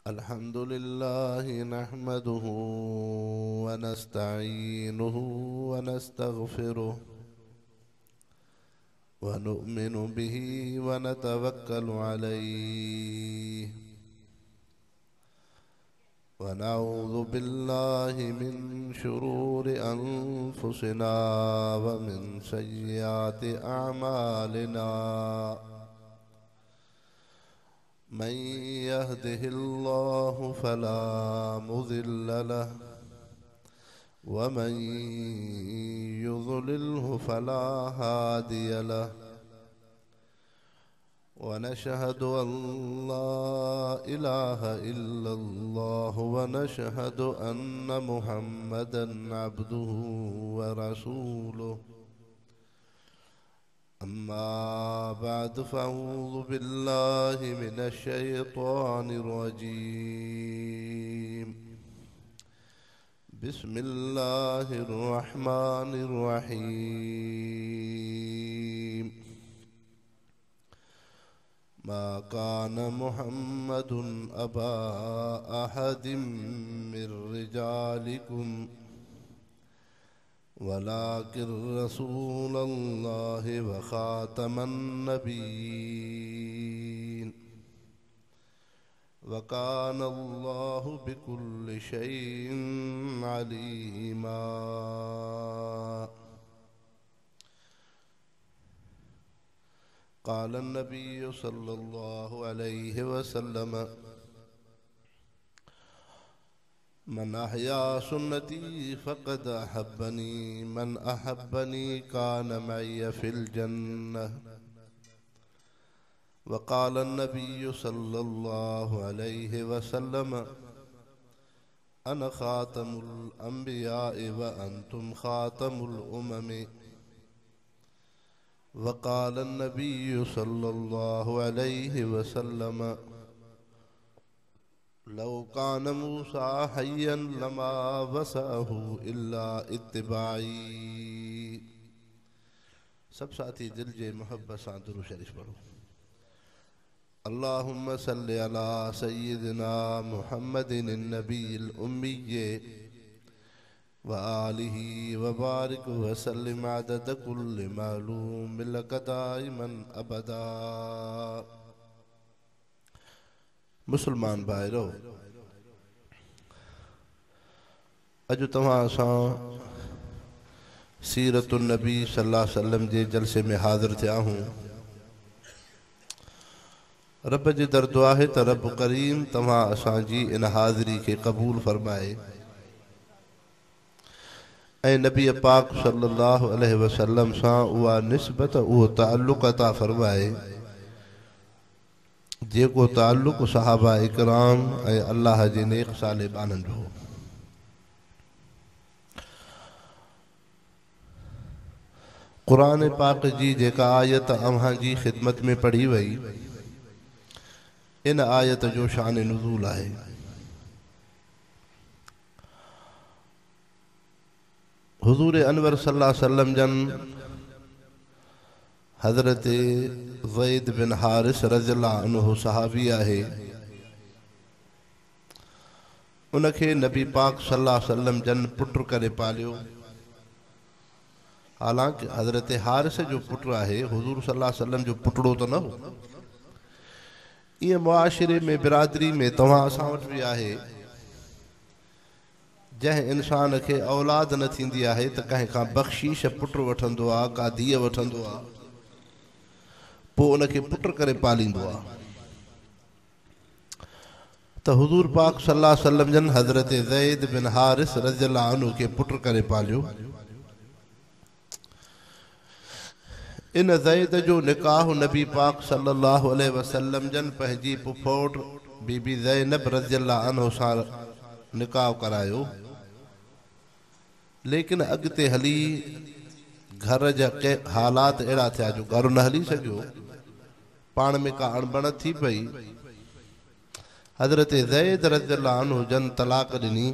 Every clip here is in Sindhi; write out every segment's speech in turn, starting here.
الحمد لله نحمده ونستعينه ونستغفره ونؤمن به ونتوكل عليه ونعوذ بالله من شرور أنفسنا ومن سيئات أعمالنا من يهده الله فلا مضل له ومن يضلله فلا هادي له ونشهد أن لا إله إلا الله ونشهد أن محمدا عبده ورسوله أما بعد فأعوذ بالله من الشيطان الرجيم بسم الله الرحمن الرحيم ما كان محمد أبا أحد من رجالكم ولكن رسول الله وخاتم النبيين وكان الله بكل شيء عليما. قال النبي صلى الله عليه وسلم من أحيا سنتي فقد أحبني، من أحبني كان معي في الجنة. وقال النبي صلى الله عليه وسلم أنا خاتم الأنبياء وأنتم خاتم الأمم. وقال النبي صلى الله عليه وسلم لو كان موسى حيا لما وسعه إلا اتباعي. सब साथी दिल जे मोहब्बत सां दुरूद शरीफ पढ़ो। अल्लाहुम्मा सल्लि अला सय्यिदिना मुहम्मदिन नबील उम्मी व आलिहि व बारिक व सल्लिम अदद कुल्लि मालूम लक दाइमन अबदा। मुसलमान भाइरो, अॼु तव्हां असां सीरतुन नबी सल्लल्लाहु अलैहि वसल्लम जे जलसे में हाज़िर थिया आहियूं। रब जे दर दुआ आहे त रब करीम तव्हां असांजी इन हाज़िरी खे क़बूल फरमाए ऐं नबी पाक सल्लल्लाहु अलैहि वसल्लम सां उहा निस्बत, उहो ताल्लुक़ अता फरमाए जेको ताल्लुक़ सहाबा इकराम ऐं अल्लाह जे नेक साले ॿान्हनि जो हो। क़ुरान पाक जी जेका आयत अव्हां जी ख़िदमत में पढ़ी वई, इन आयत जो शान नुज़ूल आहे। हुज़ूर अनवर सल्लल्लाहु अलैहि वसल्लम जन हज़रत ज़ैद बिन हारिस रज़ियल्लाहु अन्हु सहाबी आहे, उनखे नबी पाक सल्लल्लाहु अलैहि वसल्लम जन पुट करे पालियो। हालांकि हज़रत हारिस जो पुट आहे, हुज़ूर सल्लल्लाहु अलैहि वसल्लम जो पुटड़ो त न हो। ईअं मुआशिरे में, बिरादरी में तव्हां असां वटि बि आहे, जंहिं इंसान खे औलाद न थींदी आहे त कंहिं खां बख़्शीश पुट वठंदो आहे, का धीअ वठंदो आहे, पोइ उनखे पुट करे पालींदो आहे। त हुज़ूर पाक सल्लल्लाहु अलैहि वसल्लम जन हज़रत ज़ैद बिन हारिस रज़ियल्लाहु अन्हु खे पुट करे पालियो। इन ज़ैद जो निकाह नबी पाक सल्लल्लाहु अलैहि वसल्लम जन पंहिंजी पुफोट बीबी ज़ैनब रज़ियल्लाहु अन्हु सां निकाह करायो, लेकिन अॻिते हली घर जा के हालात अहिड़ा थिया जो घर न हली सघियो, पाण में का अणबण थी पई। हज़रत ज़ैद रज़ियल्लाहु अन्हु जन तलाक ॾिनी।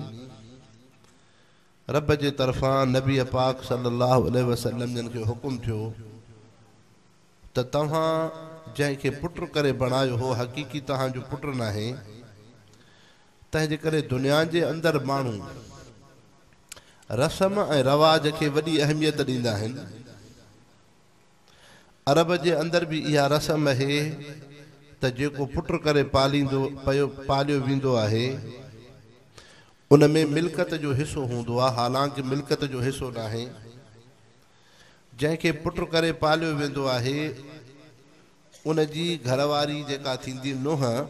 रब जे तरफ़ां नबी पाक सल्लल्लाहु अलैहि वसल्लम जन खे हुकुम थियो त तव्हां जंहिंखे पुट करे बणायो हो, हक़ीक़ी तव्हांजो पुट नाहे, تنهنجي ڪري دنيا جي اندر ماڻهو رسم ۽ رواج کي وڏي اهميت ڏيندا آهن. عرب جي اندر به اها رسم آهي ته جيڪو پٽ ڪري پاليندو پيو پاليو ويندو آهي ان ۾ ملڪت جو حصو هوندو آهي، حالانڪه ملڪت جو حصو ناهي. جنهن کي پٽ ڪري پاليو ويندو آهي ان جي گهرواري جيڪا ٿيندي ننهن،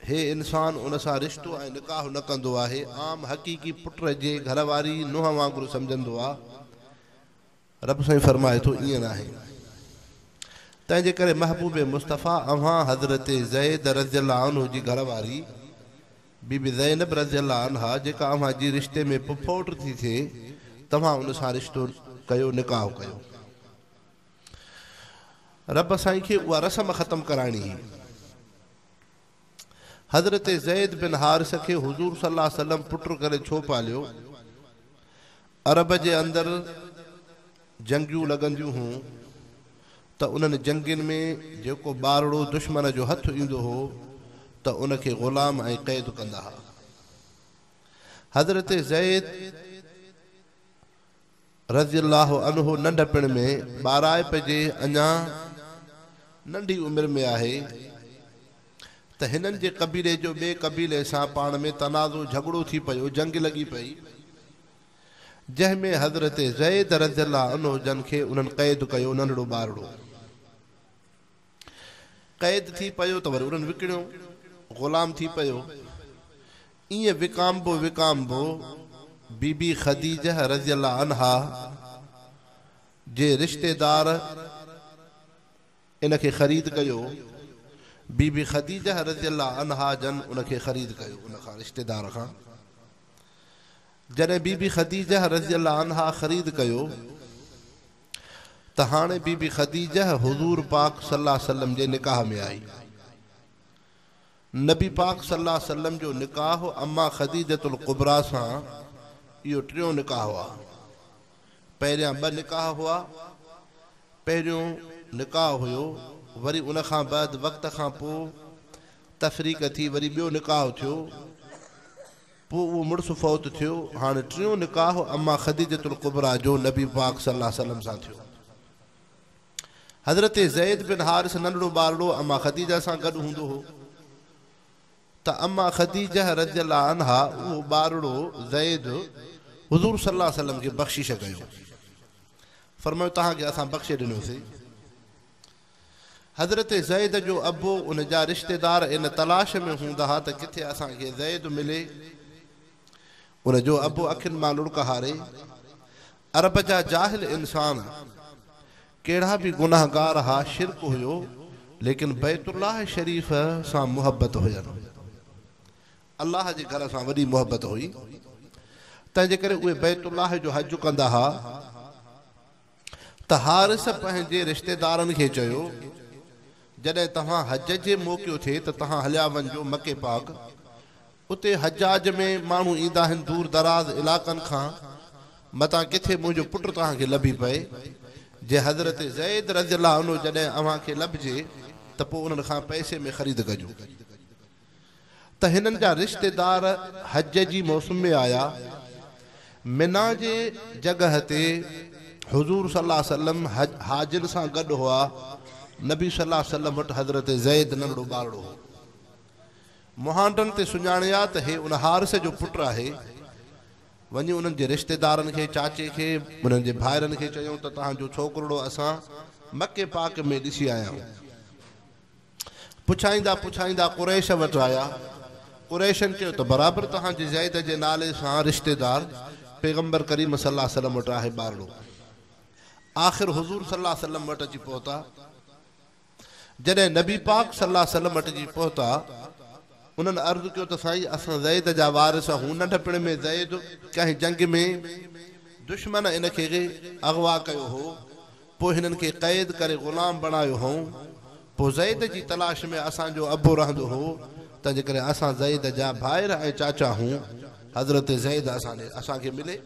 هي انسان ان سان رشتو ۽ نڪاح نه ڪندو آهي، عام حقيقي پٽ جي گهرواري ننهن وانگر سمجهندو آ. رب سائين فرمائي ٿو ائين ناهي. تنهن جي ڪري محبوب مصطفيٰ اوهان حضرت زيد رضي الله عنه جي گهر واري بي بي زينب رضي الله عنها جيڪا اوهان جي رشتي ۾ پڦوٽ ٿي ٿئي توهان ان سان رشتو ڪيو نڪاح ڪيو. رب سائين کي اها رسم ختم ڪرائڻي هئي. حضرت زيد بن حارثه کي حضور صلي الله عليه وسلم پٽ ڪري ڇو پاليو؟ عرب جي اندر جنگيون لڳنديون هيون ته انهن جنگين ۾ جيڪو ٻارڙو دشمن جو هٿ ايندو هو ته ان کي غلام ۽ قيد ڪندا ها. حضرت زيد رضي الله عنه ننڍپڻ ۾ ٻارائپ جي اڃا ننڍي عمر ۾ آهي ته هنن جي قبيلي جو ٻئي قبيلي سان پاڻ ۾ تنازعو جهڳڙو ٿي پيو، جنگ لڳي پئي، جنهن ۾ حضرت زيد رضي الله عنه جن کي انهن قيد ڪيو، ننڍڙو ٻارڙو قيد ٿي پيو ته وري انهن وڪڻيو، غلام ٿي پيو. ائين وڪامبو وڪامبو بي بي خديجه رضي الله عنها جي رشتيدار ان کي خريد ڪيو. بي بي خديجه رضي الله عنها جن ان کي خريد ڪيو ان کان رشتيدار کان. جڏهن بي بي خديجه رضي الله عنها خريد ڪيو ته هاڻي بي بي خديجه حضور پاڪ صلي الله عليه وسلم جي نڪاح ۾ آئي. نبي پاڪ صلي الله عليه وسلم جو نڪاح اما خديجة الڪبريٰ سان اهو ٽيون نڪاح هئا. پهريان ٻه نڪاح هئا. پهريون نڪاح هيو وري ان کان بعد وقت کان پوء تفريق ٿي وري ٻيو نڪاح ٿيو پوء اهو مڙس فوت ٿيو هاڻي ٽيون نڪاح اما خديجة الڪبريٰ جو نبي پاڪ صلي الله عليه وسلم سان ٿيو. حضرت زيد بن حارث ننڍڙو ٻارڙو اما خديجه سان گڏ هوندو هو ته اما خديجه رضي الله عنها اهو ٻارڙو زيد حضور صلي الله عليه وسلم کي بخشيش ڪيو. فرمايو توهان کي اسان بخشي ڏنوسين. حضرت زيد جو ابو ان جا رشتيدار ان تلاش ۾ هوندا ها ته ڪٿي اسان کي زيد ملي. ان جو ابو اکين مان لڙڪ هاري. عرب جا جاهل انسان ڪهڙا به گنهگار ها شرڪ هيو ليڪن بيت الله شريف سان محبت هين الله جي گهر سان وڏي محبت هئي تنهن جي ڪري اهي بيت الله جو حج ڪندا ها ته حارث پنهنجي رشتيدارن کي چيو جڏهن توهان حج جي موقعو ٿئي ته توهان هليا وڃجو مڪي پاڪ اتي حجاج ۾ ماڻهو ايندا آهن دور دراز علاقن کان، متان ڪٿي منهنجو پٽ توهان کي لڀي پئي. جي حضرت زيد رضي الله عنه جڏهن اوهان کي لڀجي ته پوء انهن کان پئسي ۾ خريد ڪجو. ته هنن جا رشتيدار حج جي موسم ۾ آيا. منيٰ جي جڳهه تي حضور صلي الله عليه وسلم حاجين سان گڏ هئا. نبي صلي الله عليه وسلم وٽ حضرت زيد ننڍڙو ٻارڙو هو. مهانڊن تي سڃاڻيا ته هي ان حارث جو پٽ آهي. وڃي انهن جي رشتيدارن کي، چاچي کي، انهن جي ڀائرن کي چيائون ته توهان جو ڇوڪرڙو اسان مڪي پاڪ ۾ ڏسي آيا آهيون. پڇائيندا پڇائيندا قريش وٽ آيا. قريشن چيو ته برابر توهان جي زيد جي نالي سان رشتيدار پيغمبر ڪريم صلي الله عليه وسلم وٽ آهي ٻارڙو. آخر حضور صلي الله عليه وسلم وٽ اچي پهتا. جڏهن نبي پاڪ صلي الله عليه وسلم وٽ اچي پهتا، انهن عرض ڪيو ته سائين اسان زيد جا وارث آهيون، ننڍپڻ ۾ زيد ڪنهن جنگ ۾ دشمن ان کي اغوا ڪيو هو، پوء هنن کي قيد ڪري غلام بڻايو هئون، پوء زيد جي تلاش ۾ اسان جو ابو رهندو هو، تنهنجي ڪري اسان زيد جا ڀائر ۽ چاچا آهيون، حضرت زيد اسان کي ملي.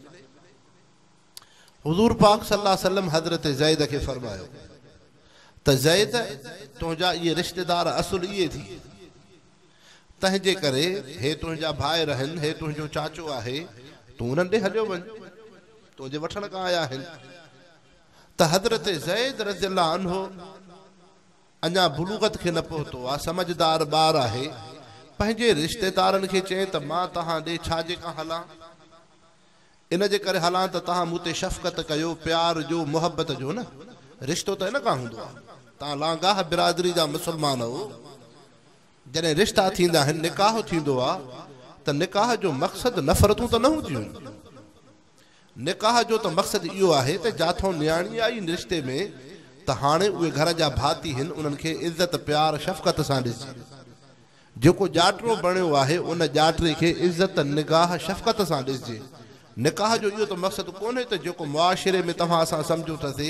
حضور پاڪ صلي الله عليه وسلم حضرت زيد کي فرمايو ته زيد تنهنجا اهي رشتيدار اصل اهي ٿي تنهن جي ڪري هي تنهنجا ڀائر آهن، هي تنهنجو چاچو آهي، تون انهن ڏي هليو وڃ، تنهنجي وٺڻ کان آيا آهن. ته حضرت زيد رضي الله عنه اڃا بلوغت کي نه پهتو آ، سمجهدار ٻار آهي، پنهنجي رشتيدارن کي چئين ته مان توهان ڏي ڇا جي ڪان هلان؟ ان جي ڪري هلان ته توهان مون تي شفقت ڪيو، پيار جو، محبت جو نه، رشتو ته ان کان هوندو آ، توهان لانگاهه برادري جا مسلمان آهو، جڏهن رشتا ٿيندا آهن، نڪاح ٿيندو آ ته نڪاح جو مقصد نفرتون ته نه هونديون آهن. نڪاح جو ته مقصد اهو آهي ته جاٿون نياڻي آئي رشتي ۾ ته هاڻي اهي گهر جا ڀاتي هن انهن کي عزت پيار شفقت سان ڏسجي. جيڪو ڄاٽرو بڻيو آهي ان ڄاٽري کي عزت نگاهه شفقت سان ڏسجي. نڪاح جو اهو ته مقصد ڪونهي ته جيڪو معاشري ۾ توهان اسان سمجهون ٿا سي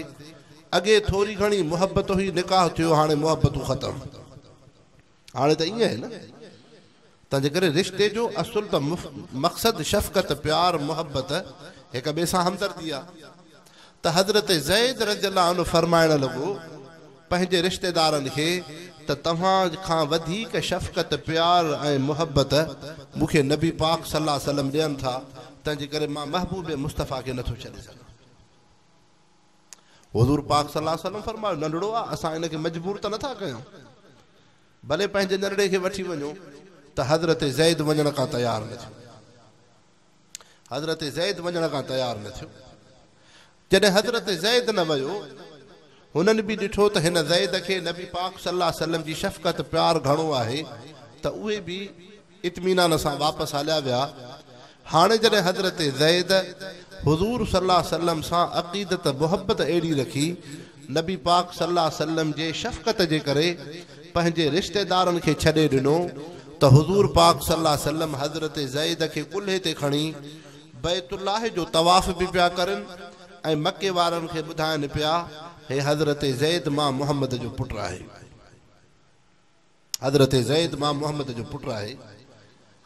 اڳي ٿوري گهڻي محبت هئي نڪاح ٿيو هاڻي محبتون ختم. هاڻي ته ائين آهي نه. تنهنجي ڪري رشتي جو اصل ته مقصد شفقت، پيار، محبت، هڪ ٻئي سان همدردي آ. ته حضرت زيد رضي الله عنه فرمائڻ لڳو پنهنجي رشتيدارن کي ته توهان کان وڌيڪ شفقت، پيار ۽ محبت مون کي نبي پاڪ صلي الله عليه وسلم ڏين ٿا، تنهنجي ڪري مان محبوب مصطفيٰ کي نٿو ڇڏي سگهان. حضور پاڪ صلي الله عليه وسلم فرمايو، ننڍڙو آ، اسان ان کي مجبور ته نٿا ڪيون، ڀلي پنهنجي ننڍڙي کي وٺي وڃو ته حضرت زيد وڃڻ کان تيار نه ٿيو. حضرت زيد وڃڻ کان تيار نه ٿيو. جڏهن حضرت زيد نه ويو، هنن به ڏٺو ته هن زيد کي نبي پاڪ صلي الله عليه وسلم جي شفقت پيار گهڻو آهي ته اهي به اطمينان سان واپس هليا ويا. هاڻي جڏهن حضرت زيد حضور صلي الله عليه وسلم سان عقيدت محبت اهڙي رکي، نبي پاڪ صلي الله عليه وسلم جي شفقت جي ڪري پنهنجي رشتيدارن کي ڇڏي ڏنو ته حضور پاڪ صلي الله عليه وسلم حضرت زيد کي ڪلهي تي کڻي بيت الله جو طواف به پيا ڪرن ۽ مڪي وارن کي ٻڌائن پيا هي حضرت زيد مان محمد جو پٽ آهي. حضرت زيد مان محمد جو پٽ آهي.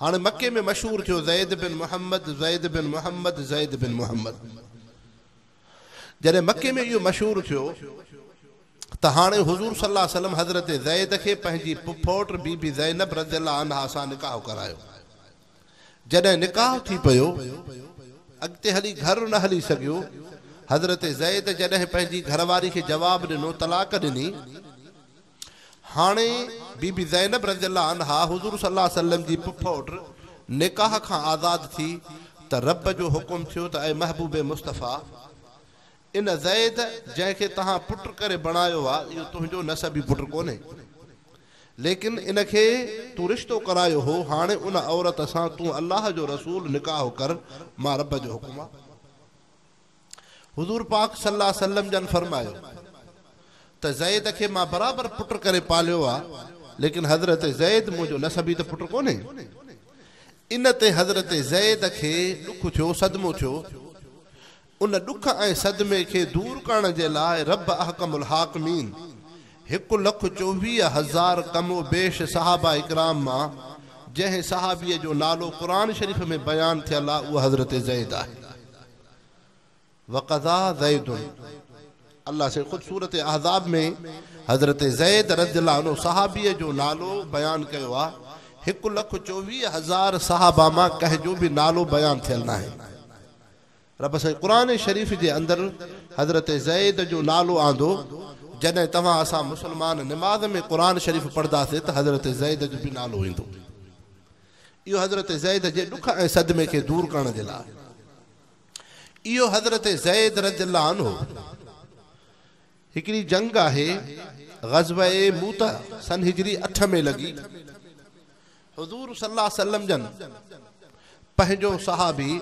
هاڻي مڪي ۾ مشهور ٿيو زيد بن محمد، زيد بن محمد، زيد بن محمد. جڏهن مڪي ۾ اهو مشهور ٿيو ته هاڻي حضور صلي الله عليه وسلم حضرت زيد کي پنهنجي پڦوٽ بي بي زينب رضي الله عنها سان نڪاح ڪرايو. جڏهن نڪاح ٿي پيو، اڳتي هلي گهر نه هلي سگهيو. حضرت زيد جڏهن پنهنجي گهر واري کي جواب ڏنو، طلاق ڏني. هاڻي بي بي زينب رضي الله عنها حضور صلي الله عليه وسلم جي پڦوٽ نڪاح کان آزاد ٿي ته رب جو حڪم ٿيو ته اي محبوب مصطفيٰ! ان زيد جنهن کي توهان پٽ ڪري بڻايو آ اهو تنهنجو نسبي پٽ ڪونهي ليڪن ان کي تون رشتو ڪرايو هو هاڻي ان عورت سان تون الله جو رسول نڪاح ڪر مان رب جو حڪم آ. حضور پاڪ صلي الله عليه وسلم جن فرمايو ته زيد کي مان برابر پٽ ڪري پاليو آ ليڪن حضرت زيد منهنجو نسبي ته پٽ ڪونهي. ان تي حضرت زيد کي ڏک ٿيو، صدمو ٿيو. ان ڏک ۽ صدمي کي دور ڪرڻ جي لاء رب احڪم الحاڪمين 1,24,000 ڪم و بيش صحابه ڪرام مان جنهن صحابي جو نالو قرآن شريف ۾ بيان ٿيل آ اهو حضرت زيد آهي. وقضيٰ زيد الله سائين خود سورة احزاب ۾ حضرت زيد رضي الله عنه صحابيء جو نالو بيان ڪيو آ، 1,24,000 صحابه مان ڪنهن جو به نالو بيان ٿيل ناهي. رب سائين قرآن شريف جي اندر حضرت زيد جو نالو آندو، جڏهن توهان اسان مسلمان نماز ۾ قرآن شريف پڙهنداسين ته حضرت زيد جو به نالو ايندو. اهو حضرت زيد جي ڏک ۽ صدمي کي دور ڪرڻ جي لاء. اهو حضرت زيد رضي الله عنه هڪڙي جنگ آهي غزوه موته سن هجري اٺ ۾ لڳي. حضور صلي الله عليه وسلم جن پنهنجو صحابي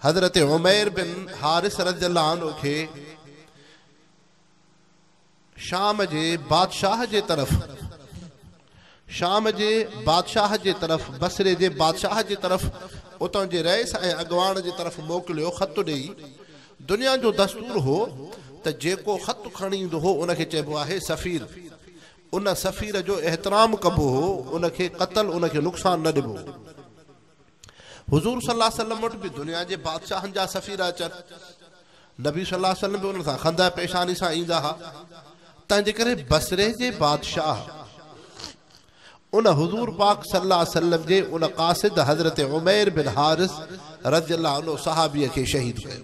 حضرت عمير بن حارث رضي الله عنه کي شام جي بادشاهه جي طرف شام جي بادشاهه جي طرف بصري جي بادشاهه جي طرف اتان جي رئيس ۽ اڳواڻ جي طرف موڪليو خط ڏيئي. دنيا جو دستور هو ته جيڪو خط کڻي ايندو هو ان کي چئبو آهي سفير. ان سفير جو احترام ڪبو هو، ان کي قتل ان کي نقصان نه ڏبو هو. حضور صلي الله عليه وسلم وٽ به دنيا جي بادشاهن جا سفير اچن. نبي صلي الله عليه وسلم به انهن سان خنده پيشاني سان ايندا ها. تنهن جي ڪري بصري جي بادشاهه ان حضور پاڪ صلي الله عليه وسلم جي ان قاصد حضرت عمير بن حارث رضي الله عنه صحابيء کي شهيد ڪيو.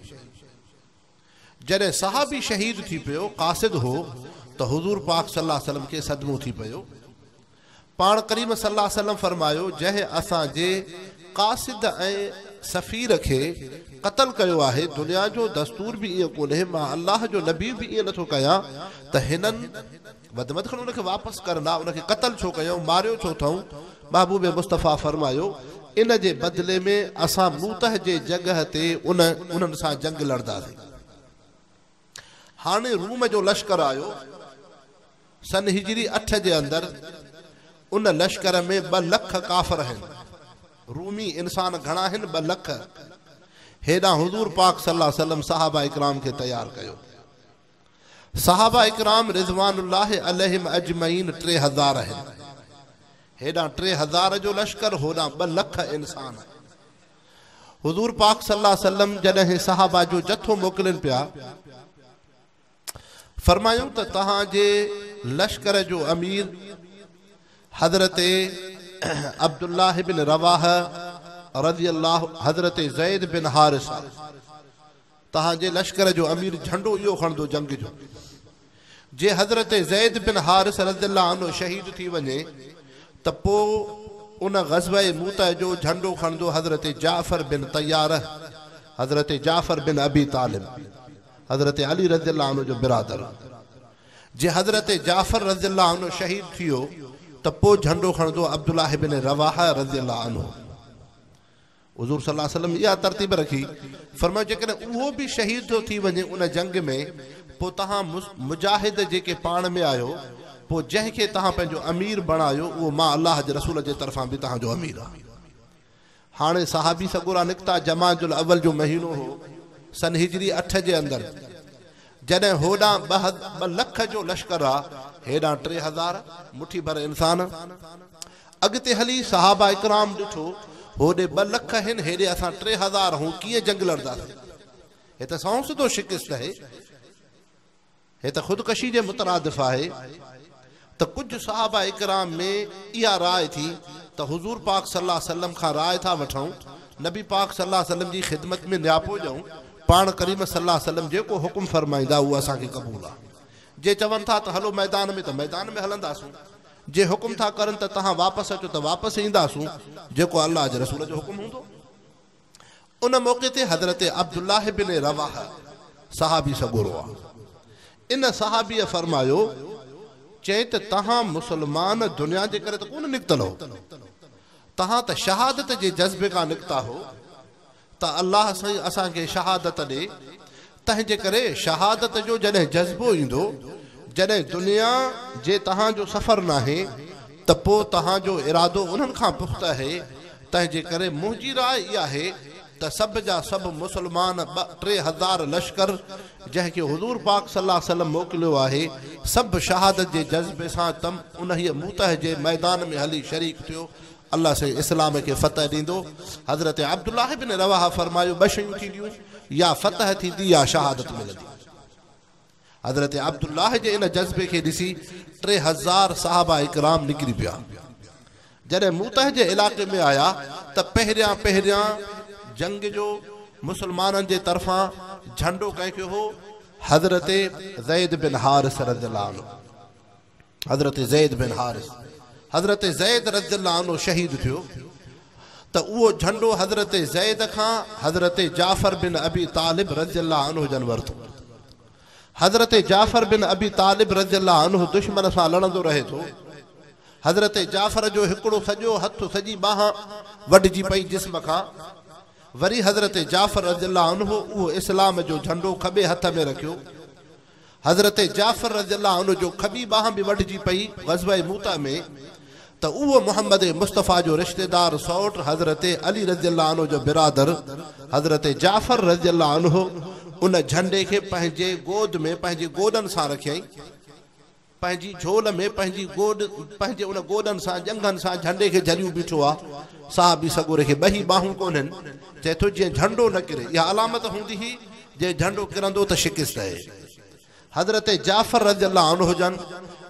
جڏهن صحابي شهيد ٿي پيو، قاصد هو، ته حضور پاڪ صلي الله عليه وسلم کي صدمو ٿي پيو. پاڻ ڪريم صلي الله عليه وسلم فرمايو، جنهن اسان جي قاصد ۽ سفير کي قتل ڪيو آهي، دنيا جو دستور به ائين ڪونهي، مان الله جو نبي به ائين نٿو ڪيان ته هنن وڌ ۾ وڌ کڻي ان کي واپس ڪرندا، ان کي قتل ڇو ڪيائون، ماريو ڇو اٿئون؟ محبوب مصطفيٰ فرمايو، ان جي بدلي ۾ اسان موته جي جڳهه تي ان انهن سان جنگ لڙنداسين. هاڻي روم جو لشڪر آيو، سن هجري اٺ جي اندر ان لشڪر ۾ ٻه لک ڪافر هن، رومي انسان گهڻا هن؟ ٻه لک. هيڏانهن حضور پاڪ صلي الله عليه وسلم صحابه ڪرام کي تيار ڪيو. صحابه ڪرام رضوان الله عليهم اجمعين 3000 آهن. هيڏانهن 3000 جو لشڪر هوڏانهن ٻه لک انسان. حضور پاڪ صلي الله عليه وسلم جڏهن صحابه جو جٿو موڪلين پيا فرمايائون ته توهان جي لشڪر جو امير حضرت عبدالله بن رواحه رضي الله حضرت زيد بن حارثه توهان جي لشڪر جو امير جهنڊو اهو کڻندو جنگ جو. جي حضرت زيد بن حارث رضي الله عنه شهيد ٿي وڃي ته پوء ان غزوه موته جو جهنڊو کڻندو حضرت جعفر بن طياره، حضرت جعفر بن ابي طالب، حضرت علي رضي الله عنه جو برادر. جي حضرت جعفر رضي الله عنه شهيد ٿيو ته پوء جهنڊو کڻندو عبدالله بن رواحه رضي الله عنه. حضور صلي الله عليه وسلم اها ترتيب رکي، فرمايو جيڪڏهن اهو به شهيد ٿو ٿي وڃي ان جنگ ۾ پوء توهان مجاهد جيڪي پاڻ ۾ آهيو پوء جنهن کي توهان پنهنجو امير بڻايو اهو مان الله جي رسول جي طرفان به توهان جو امير آهيان. هاڻي صحابي سڳورا نڪتا جمادي الاول جو مهينو هو سن هجري اٺ جي اندر جڏهن هوڏانهن ٻه لک جو لشڪر آ هيڏانهن 3000 مٺي ڀر انسان. اڳتي هلي صحابه ڪرام ڏٺو، هوڏي ٻه لک هن، هيڏي اسان 3000 هون، ڪيئن جنگ لڙنداسين؟ هي ته سنئون سڌو شڪست آهي، هي ته خودڪشي جي مترادف آهي. ته ڪجهه صحابه ڪرام ۾ اها راء ٿي ته حضور پاڪ صلي الله عليه وسلم کان راء ٿا وٺون، نبي پاڪ صلي الله عليه وسلم جي خدمت ۾ نياپو ڏيون، پاڻ ڪريم صلي الله عليه وسلم جيڪو حڪم فرمائيندا اهو اسان کي قبول آهي. جي چون ٿا ته هلو ميدان ۾ ته ميدان ۾ هلنداسون. جي حڪم ٿا ڪرن ته توهان واپس اچو ته واپس اينداسون، جيڪو الله جي رسول جو حڪم هوندو. ان موقعي تي حضرت عبدالله بن رواحه صحابي سڳورو آ. ان صحابيء فرمايو، چئين ته توهان مسلمان دنيا جي ڪري ته ڪونه نڪتل هو، توهان ته شهادت جي جذبي کان نڪتا هو، ته الله سائين اسان کي شهادت ڏي، تنهن جي ڪري شهادت جو جڏهن جذبو ايندو، جڏهن دنيا جي توهان جو سفر ناهي ته پوء توهان جو ارادو انهن کان پخته آهي، تنهن جي ڪري منهنجي راء اها آهي ته سڀ جا سڀ مسلمان ٻه 3000 لشڪر جنهن کي حضور پاڪ صلي الله عليه وسلم موڪليو آهي، سڀ شهادت جي جذبي سان تم انهيء موته جي ميدان ۾ هلي شريڪ ٿيو، الله سائين اسلام کي فتح ڏيندو. حضرت عبدالله بن رواحه فرمايو ٻه شيون ٿينديون يا فتح ٿيندي يا شهادت ملندي. حضرت عبدالله جي ان جذبي کي ڏسي 3000 صحابه ڪرام نڪري پيا. جڏهن موته جي علائقي ۾ آيا ته پهريان پهريان جنگ جو مسلمانن جي طرفان جهنڊو ڪنهن کي هو؟ حضرت زيد بن حارث رضي الله عنه. حضرت زيد بن حارث حضرت زيد رضي الله عنه شهيد ٿيو ته اهو جهنڊو حضرت زيد کان حضرت جعفر بن ابي طالب رضي الله عنه جن ورتو. حضرت جعفر بن ابي طالب رضي الله عنه دشمن سان لڙندو رهي ٿو. حضرت جعفر جو هڪڙو سڄو هٿ سڄي ٻانهن وڍجي پئي جسم کان. وري حضرت جعفر رضي الله عنه اهو اسلام جو جهنڊو کٻي هٿ ۾ رکيو. حضرت جعفر رضي الله عنه جو کٻي ٻانهن به وڍجي پئي غزوه موته ۾ ته اهو محمد مصطفيٰ جو رشتيدار سئوٽ حضرت علي رضي الله عنه جو برادر حضرت جعفر رضي الله عنه ان جهنڊي کي پنهنجي گود ۾ پنهنجي گوڏن سان رکيائين. پنهنجي جهول ۾ پنهنجي گوڏ پنهنجي ان گوڏن سان ڄنگهن سان جهنڊي کي جهليون بيٺو آ. صحابي سڳوري کي ٻه ئي ٻانهون ڪونهن. چئي ٿو جيئن جهنڊو نه ڪري. اها علامت هوندي هئي جي جهنڊو ڪرندو ته شڪست آهي. حضرت جعفر رضي الله عنه جن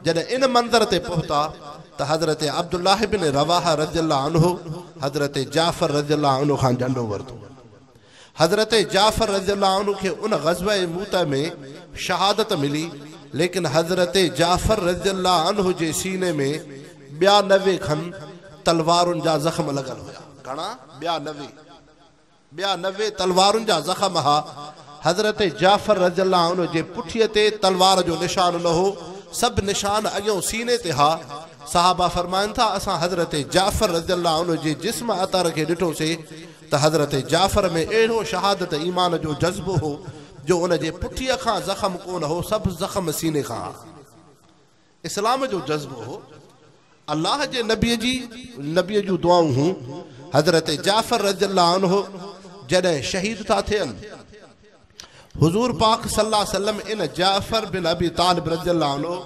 جڏهن ان منظر تي پهتا ته حضرت عبدالله بن رواحه رضي الله عنه حضرت جعفر رضي الله عنه کان جهنڊو ورتو. حضرت جعفر رضي الله عنه کي ان غزوه موته ۾ شهادت ملي، ليڪن حضرت جعفر رضي الله عنه جي سيني ۾ 92 کن تلوارن جا زخم لڳل هيا. گهڻا؟ 92. 92 تلوارن جا زخم ها. حضرت جعفر رضي الله عنه جي پٺيء تي تلوار جو نشان نه هو، سڀ نشان اڳيون سيني تي ها. صحابه فرمائن ٿا، اسان حضرت جعفر رضي الله عنه جي جسم اطهر کي ڏٺوسي ته حضرت جعفر ۾ اهڙو شهادت ايمان جو جذبو هو جو ان جي پٺيء کان زخم ڪونه هو، سڀ زخم سيني کان ها. اسلام جو جذبو هو، الله جي نبيء جي نبيء جون دعائون هون. حضرت جعفر رضي الله عنه جڏهن شهيد ٿا ٿين، حضور پاڪ صلي الله عليه وسلم ان جعفر بن ابي طالب رضي الله عنه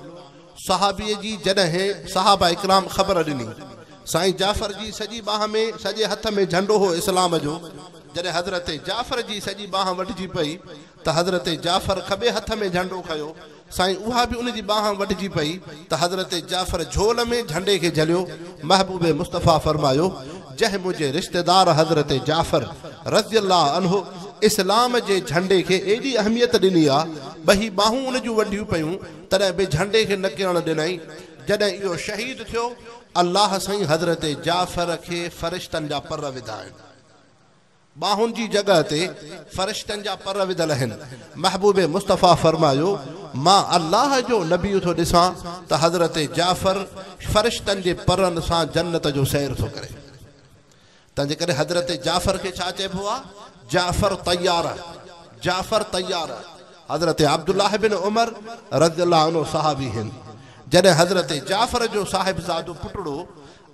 صحابيء جي جڏهن صحابه ڪرام خبر ڏني، سائين جعفر جي سڄي ٻانهن ۾ سڄي هٿ ۾ جهنڊو هو اسلام جو، جڏهن حضرت جعفر جي سڄي ٻانهن وڍجي پئي ته حضرت جعفر کٻي هٿ ۾ جهنڊو کنيو، سائين اها به ان جي ٻانهن وڍجي پئي ته حضرت جعفر جهول ۾ جهنڊي کي جهليو، محبوب مصطفيٰ فرمايو، جنهن منهنجي رشتيدار حضرت جعفر رضي الله عنه اسلام جي جهنڊي کي ايڏي اهميت ڏني آ، ٻهي ٻانهون ان جون وڍيون پيون، تڏهن به جهنڊي کي نه ڪرڻ ڏنائين، جڏهن اهو شهيد ٿيو، الله سائين حضرت جعفر کي فرشتن جا پر وڌا آهن. ٻانهن جي جڳهه تي فرشتن جا پر وڌل آهن. محبوب مصطفيٰ فرمايو، مان الله جو نبي ٿو ڏسان ته حضرت جعفر فرشتن جي پرن سان جنت جو سير ٿو ڪري. تنهنجي ڪري حضرت جعفر کي ڇا چئبو آهي؟ جعفر طيار، جعفر طيار. حضرت عبدالله بن عمر رضي الله عنه صحابي هن. جڏهن حضرت جعفر جو صاحبزادو پٽڙو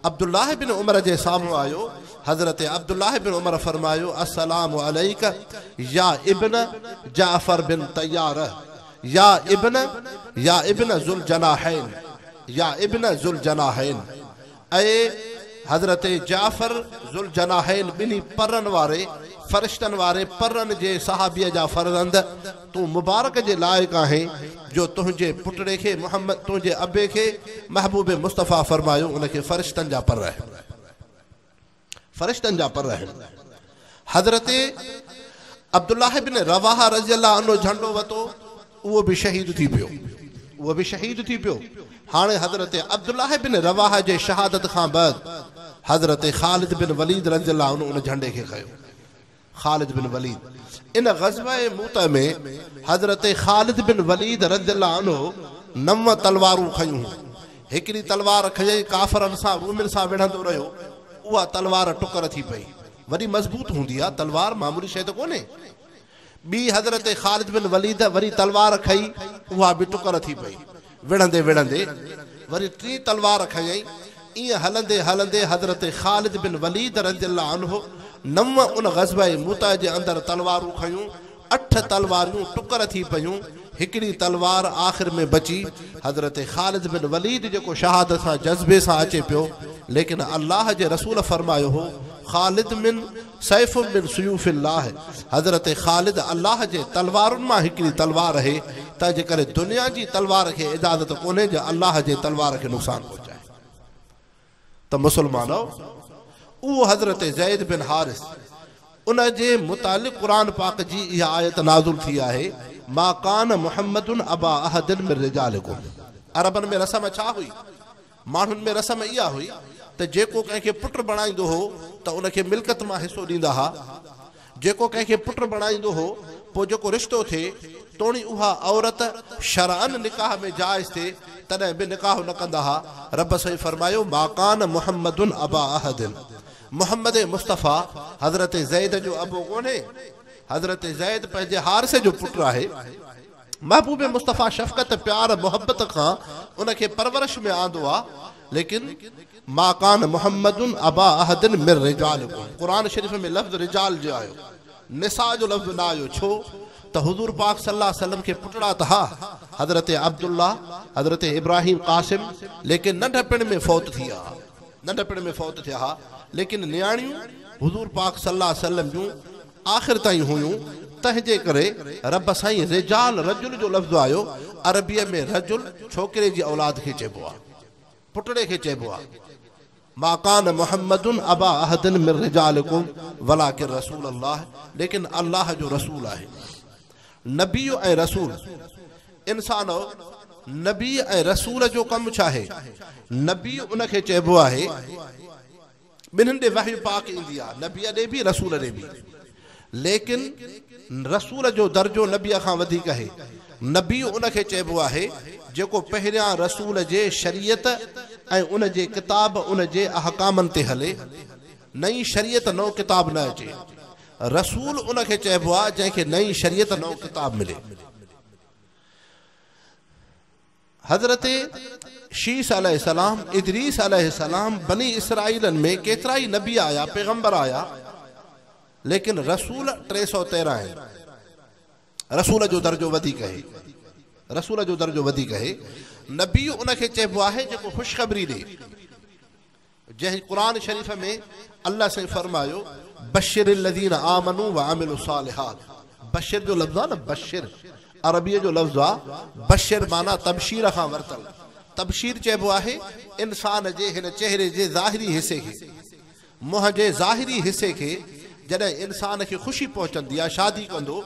عبدالله بن عمر جي سامهون آيو، حضرت عبدالله بن عمر فرمايو، السلام عليڪ يا ابن جعفر بن طيار، يا ابن يا ابن ذوالجناحين، يا ابن ذوالجناحين، اي حضرت جعفر ذوالجناحين ٻنهي پرن واري، فرشتن واري پرن جي صحابيء جا فرزند، تون مبارڪ جي لائق آهين جو تنهنجي پٽڙي کي محمد تنهنجي ابي کي محبوب مصطفيٰ فرمايو ان کي فرشتن جا پر آهن فرشتن جا پر آهن حضرت عبدالله بن رواحه رضي الله عنه جهنڊو وتو اهو به شهيد ٿي پيو اهو به شهيد ٿي پيو هاڻي حضرت عبدالله بن رواحه جي شهادت کان بعد حضرت خالد بن وليد رضي الله عنه ان جهنڊي کي کنيو خالد بن وليد، ان غزوه موته ۾ حضرت خالد بن وليد رضي الله عنه نو تلوارون کنيون هيون. هڪڙي تلوار کنيائين ڪافرن سان رومين سان وڙهندو رهيو، اها تلوار ٽڪر ٿي پئي. وڏي مضبوط هوندي آ تلوار معمولي شيء ته ڪونهي. ٻي حضرت خالد بن وليد وري تلوار کنئي اها به ٽڪر ٿي پئي. وڙهندي وڙهندي وري ٽين تلوار کنيائين. ائين هلندي هلندي حضرت خالد بن وليد رضي الله عنه نو ان غزوه موته جي اندر تلوارون کنيون، اٺ تلواريون ٽڪر ٿي پيون، هڪڙي تلوار آخر ۾ بچي. حضرت خالد بن وليد جيڪو شهادت سان جذبي سان اچي پيو، ليڪن الله جي رسول فرمايو هو، خالد من سيف من سيوف الله، حضرت خالد الله جي تلوارن مان هڪڙي تلوار اهي، تنهنجي ڪري دنيا جي تلوار کي اجازت ڪونهي جو الله جي تلوار کي نقصان پهچائي. ته مسلمانؤ! اهو حضرت زيد بن حارث، ان جي متعلق قرآن پاڪ جي اها آيت نازل ٿي آهي، ما ڪان محمد ابا احد من رجالڪم. عربن ۾ رسم ڇا هئي؟ ماڻهن ۾ رسم اها هئي ته جيڪو ڪنهن کي پٽ بڻائيندو هو ته ان کي ملڪيت مان حصو ڏيندا ها. جيڪو ڪنهن کي پٽ بڻائيندو هو پوء جيڪو رشتو ٿئي توڻي اها عورت شرعاً نڪاح ۾ جائز ٿئي تڏهن به نڪاح نه ڪندا ها. رب سائين فرمايو ما ڪان محمد ابا احد محمد مصطفيٰ حضرت زيد جو ابو ڪونهي. حضرت زيد پنهنجي حارثه جو پٽ آهي. محبوب مصطفيٰ شفقت، پيار، محبت کان ان کي پرورش ۾ آندو آ، ليڪن ما ڪان محمد ابا احد من رجالڪم قرآن شريف ۾ لفظ رجال جو آيو، نساء جو لفظ نه آيو، ڇو ته حضور پاڪ صلي الله عليه وسلم کي پٽڙا ته ها، حضرت عبدالله، حضرت ابراهيم قاسم، ليڪن ننڍپڻ ۾ فوت ٿي ويا ها، ننڍپڻ ۾ فوت ٿيا ها، ليڪن نياڻيون حضور پاڪ صلي الله عليه وسلم جون آخر تائين هيون، تنهن جي ڪري رب سائين رجال رجل جو لفظ آيو، عربيء ۾ رجل ڇوڪري جي اولاد کي چئبو آهي. پٽڙي کي چئبو آهي. ما ڪان محمد ابا احد من رجالڪم ولڪن رسول الله ليڪن الله جو رسول آهي. نبي ۽ رسول، انسانؤ! نبي ۽ رسول جو ڪم ڇا آهي؟ نبي ان کي چئبو آهي، ٻنهين ڏي وحي پاڪ ايندي آهي، نبيء ڏي به رسول ڏي به. ليڪن رسول جو درجو نبيء کان وڌيڪ آهي. نبي ان کي چئبو آهي جيڪو پهريان رسول جي شريعت ۽ ان جي ڪتاب ان جي احڪامن تي هلي، نئين شريعت نئون ڪتاب نه اچي. رسول ان کي چئبو آهي جنهن کي نئين شريعت نئون ڪتاب ملي. حضرت شيث عليه السلام، ادريس عليه السلام، بني اسرائيلن ۾ ڪيترائي نبي آيا، پيغمبر آيا، ليڪن رسول 313 آهن. رسول جو درجو وڌيڪ آهي. رسول جو درجو وڌيڪ آهي. نبي ان کي چئبو آهي جيڪو خوشخبري ڏي. جنهن قرآن شريف ۾ الله سائين فرمايو بشر الذين آمنوا وعملوا الصالحات بشر جو لفظ آ نه بشر عربيء جو لفظ آ بشر معنيٰ تبشير کان ورتل تبشير چئبو آهي انسان جي هن چهري جي ظاهري حصي کي منهن جي ظاهري حصي کي جڏهن انسان کي خوشي پهچندي آ شادي ڪندو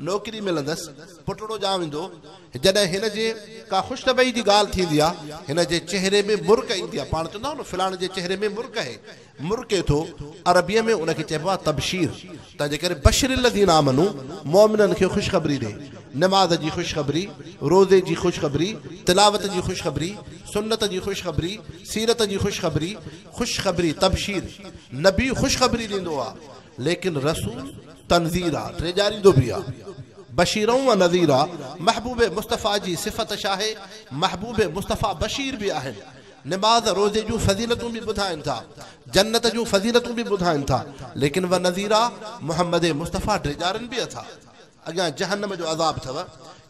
نوڪري ملندس، پٽڙو ڄاويندو، جڏهن هن جي ڪا خوش طبعي جي ڳالهه ٿيندي آ، هن جي چهري ۾ مرڪ ايندي آ، پاڻ چوندا آهيون نه فلاڻي جي چهري ۾ مرڪ آهي، مرڪي ٿو، عربيء ۾ ان کي چئبو آ تبشير، تنهنجي ڪري بشر الذين آمنوا مؤمنن کي خوشخبري ڏي، نماز جي خوشخبري، روزي جي خوشخبري، تلاوت جي خوشخبري، سنت جي خوشخبري، سيرت جي خوشخبري، خوشخبري، تبشير، نبي خوشخبري ڏيندو آ، ليڪن رسول تنذير آ، ڊيڄاريندو به آ. بشيرا و نذيرا، محبوب مصطفيٰ جي صفت ڇاهي؟ محبوب مصطفيٰ بشير به آهن، نماز روزي جون فضيلتون به ٻڌائن ٿا، جنت جون فضيلتون به ٻڌائن ٿا، ليڪن و نذيرا، محمد مصطفيٰ ڊيڄارين به ٿا. اڳيان جهنم جو عذاب اٿو،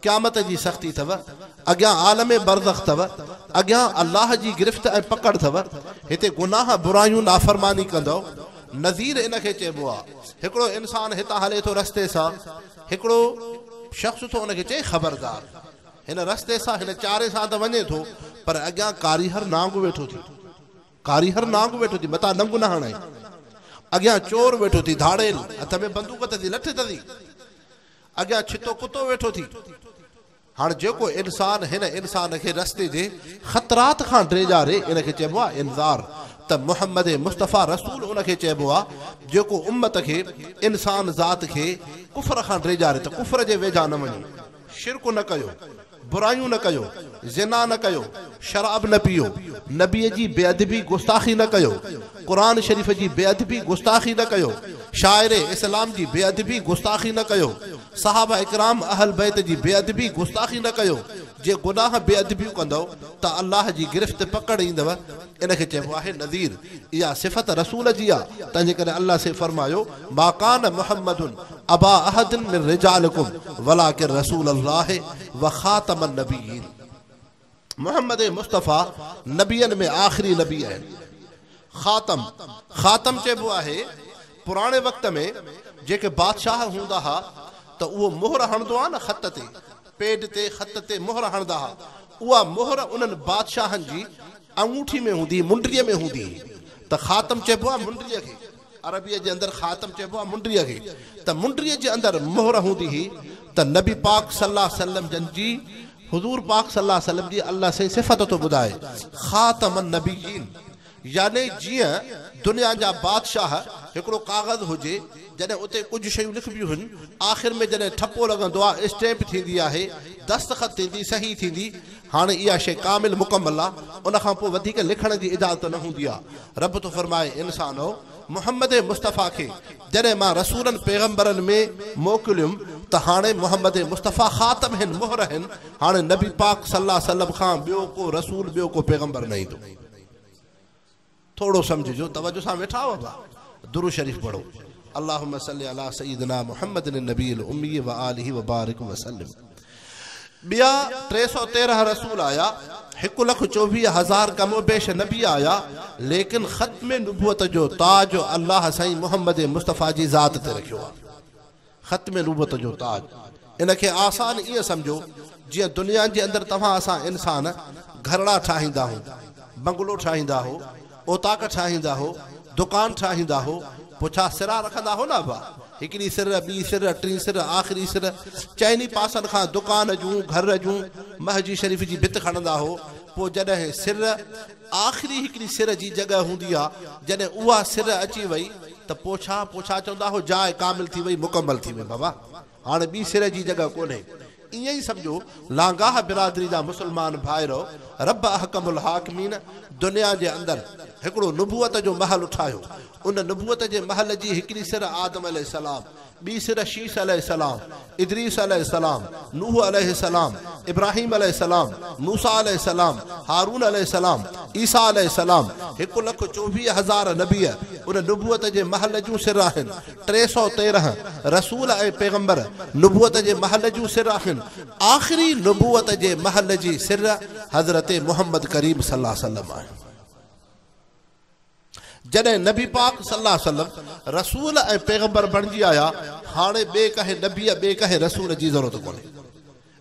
قيامت جي سختي اٿو، اڳيان عالم برزخ اٿو، اڳيان الله جي گرفت ۽ پڪڙ اٿو، هتي گناهه، برايون، نافرماني ڪندؤ، نذير ان کي چئبو آ. هڪڙو انسان هتان هلي ٿو رستي سان، هڪڙو شخص ٿو ان کي چئي خبردار! هن رستي سان، هن چاري سان ته وڃين ٿو، پر اڳيان ڪاريهر نانگ ويٺو ٿي. ڪاريهر نانگ ويٺو ٿي، متان ڏنگ نه هڻئي. اڳيان چور ويٺو ٿي، ڌاڙيل، هٿ ۾ بندوق اٿسي، لٺ اٿسي. اڳيان ڇتو ڪتو ويٺو ٿي. هاڻ جيڪو انسان هن انسان کي رستي جي خطرات کان ڊيڄاري، ان کي چئبو آهي انذار. ته محمد مصطفيٰ رسول ان کي چئبو آهي، جيڪو امت کي، انسان ذات کي ڪفر کان ڊيڄاري ته ڪفر جي ويجها نه وڃو. شرڪ نه ڪيو، برايون نه ڪيو، زنا نه ڪيو، شراب نه پيئو، نبيء جي بي ادبي گستاخي نه ڪيو، قرآن شريف جي بي ادبي گستاخي نه ڪيو، شاعر اسلام جي بي ادبي گستاخي نه ڪيو، صحابه اڪرام اهل بيت جي بي ادبي گستاخي نه ڪيو، جي گناهه بي ادبيون ڪندؤ ته الله جي گرفت پڪڙ ايندؤ، ان کي چئبو آهي نذير، اها صفت رسول جي آ، تنهنجي ڪري الله سائين فرمايو، ما ڪان محمد ابا احد من رجالڪم ولڪن رسول الله وخاتم النبيين محمد مصطفيٰ نبين ۾ آخري نبي آهن. خاتم، خاتم چئبو آهي پراڻي وقت ۾ جيڪي بادشاهه هوندا ها ته اهو مهر هڻندو ها نه خط تي، پيڊ تي خط تي مهر هڻندا ها، اها مهر انهن بادشاهن جي آڱوٺي ۾ هوندي هئي، منڊيء ۾ هوندي هئي ته خاتم چئبو آهي منڊيء کي. عربيء جي اندر خاتم چئبو آهي منڊيء کي ته منڊيء جي اندر مهر هوندي هئي ته نبي پاڪ صلي الله عليه وسلم جن جي حضور پاڪ صلي الله عليه وسلم جي الله سائين صفت ٿو ٻڌائي خاتم النبيين يعني جيئن دنيا جا بادشاهه هڪڙو ڪاغذ هجي جڏهن اتي ڪجهه شيون لکبيون هن آخر ۾ جڏهن ٺپو لڳندو آهي اسٽيمپ ٿيندي آهي دستخط ٿيندي صحيح ٿيندي هاڻي اها شيء ڪامل مڪمل آ، ان کان پوء وڌيڪ لکڻ جي اجازت نه هوندي آ. رب ٿو فرمائي، انسانؤ! محمد مصطفيٰ کي جڏهن مان رسولن پيغمبرن ۾ موڪليم ته هاڻي محمد مصطفيٰ خاتم هن، مهر هن، هاڻي نبي پاڪ صلي الله عليه وسلم کان ٻيو ڪو رسول ٻيو ڪو پيغمبر نه ايندو. ٿورو سمجهجو توجه سان ويٺا آهيو ابا درود شريف پڙهو اللهم صل علي سيدنا محمد النبي الامي وآله وبارڪ وسلم ٻيا 313 رسول آيا 1,24,000 ڪم و بيش نبي آيا ليڪن ختم نبوت جو تاج الله سائين محمد مصطفيٰ جي ذات تي رکيو آهي ختم نبوت جو تاج ان کي آسان ائين سمجهو جيئن دنيا جي اندر توهان اسان انسان گهرڙا ٺاهيندا آهيون. بنگلو ٺاهيندا هو، اوطاق ٺاهيندا هو، دڪان ٺاهيندا هو، پوء ڇا سرا رکندا هو نه ابا؟ هڪڙي سر، ٻي سر، ٽين سر، آخري سر، چئني پاسن کان دڪان جون، گهر جون، مسجد شريف جي ڀت کڻندا هو، پوء جڏهن سر، آخري هڪڙي سر جي جڳهه هوندي آ، جڏهن اها سر اچي وئي ته پوء ڇا، پوء ڇا چوندا هو، جاء ڪامل ٿي وئي، مڪمل ٿي وئي بابا، هاڻي ٻي سر جي جڳهه ڪونهي. ائين ئي سمجهو لانگاهه برادري جا مسلمان ڀائرؤ، رب احڪم الحاڪمين دنيا جي اندر هڪڙو نبوت جو محل ٺاهيو، ان نبوت جي محل جي هڪڙي سر آدم عليه السلام، ٻي سر شيث عليه السلام، ادريس عليه السلام، نوح عليه السلام، ابراهيم عليه السلام، موسيٰ عليه السلام، هارون عليه السلام، عيسيٰ عليه السلام، 1,24,000 نبي ان نبوت جي محل جون سر آهن، 313 رسول ۽ پيغمبر نبوت جي محل جون سر آهن، آخري نبوت جي محل جي سر حضرت محمد ڪريم صلي الله عليه وسلم آهن. جڏهن نبي پاڪ صلي الله عليه وسلم رسول ۽ پيغمبر بڻجي آيا، هاڻي ٻئي ڪنهن نبيء ٻئي ڪنهن رسول جي ضرورت ڪونهي.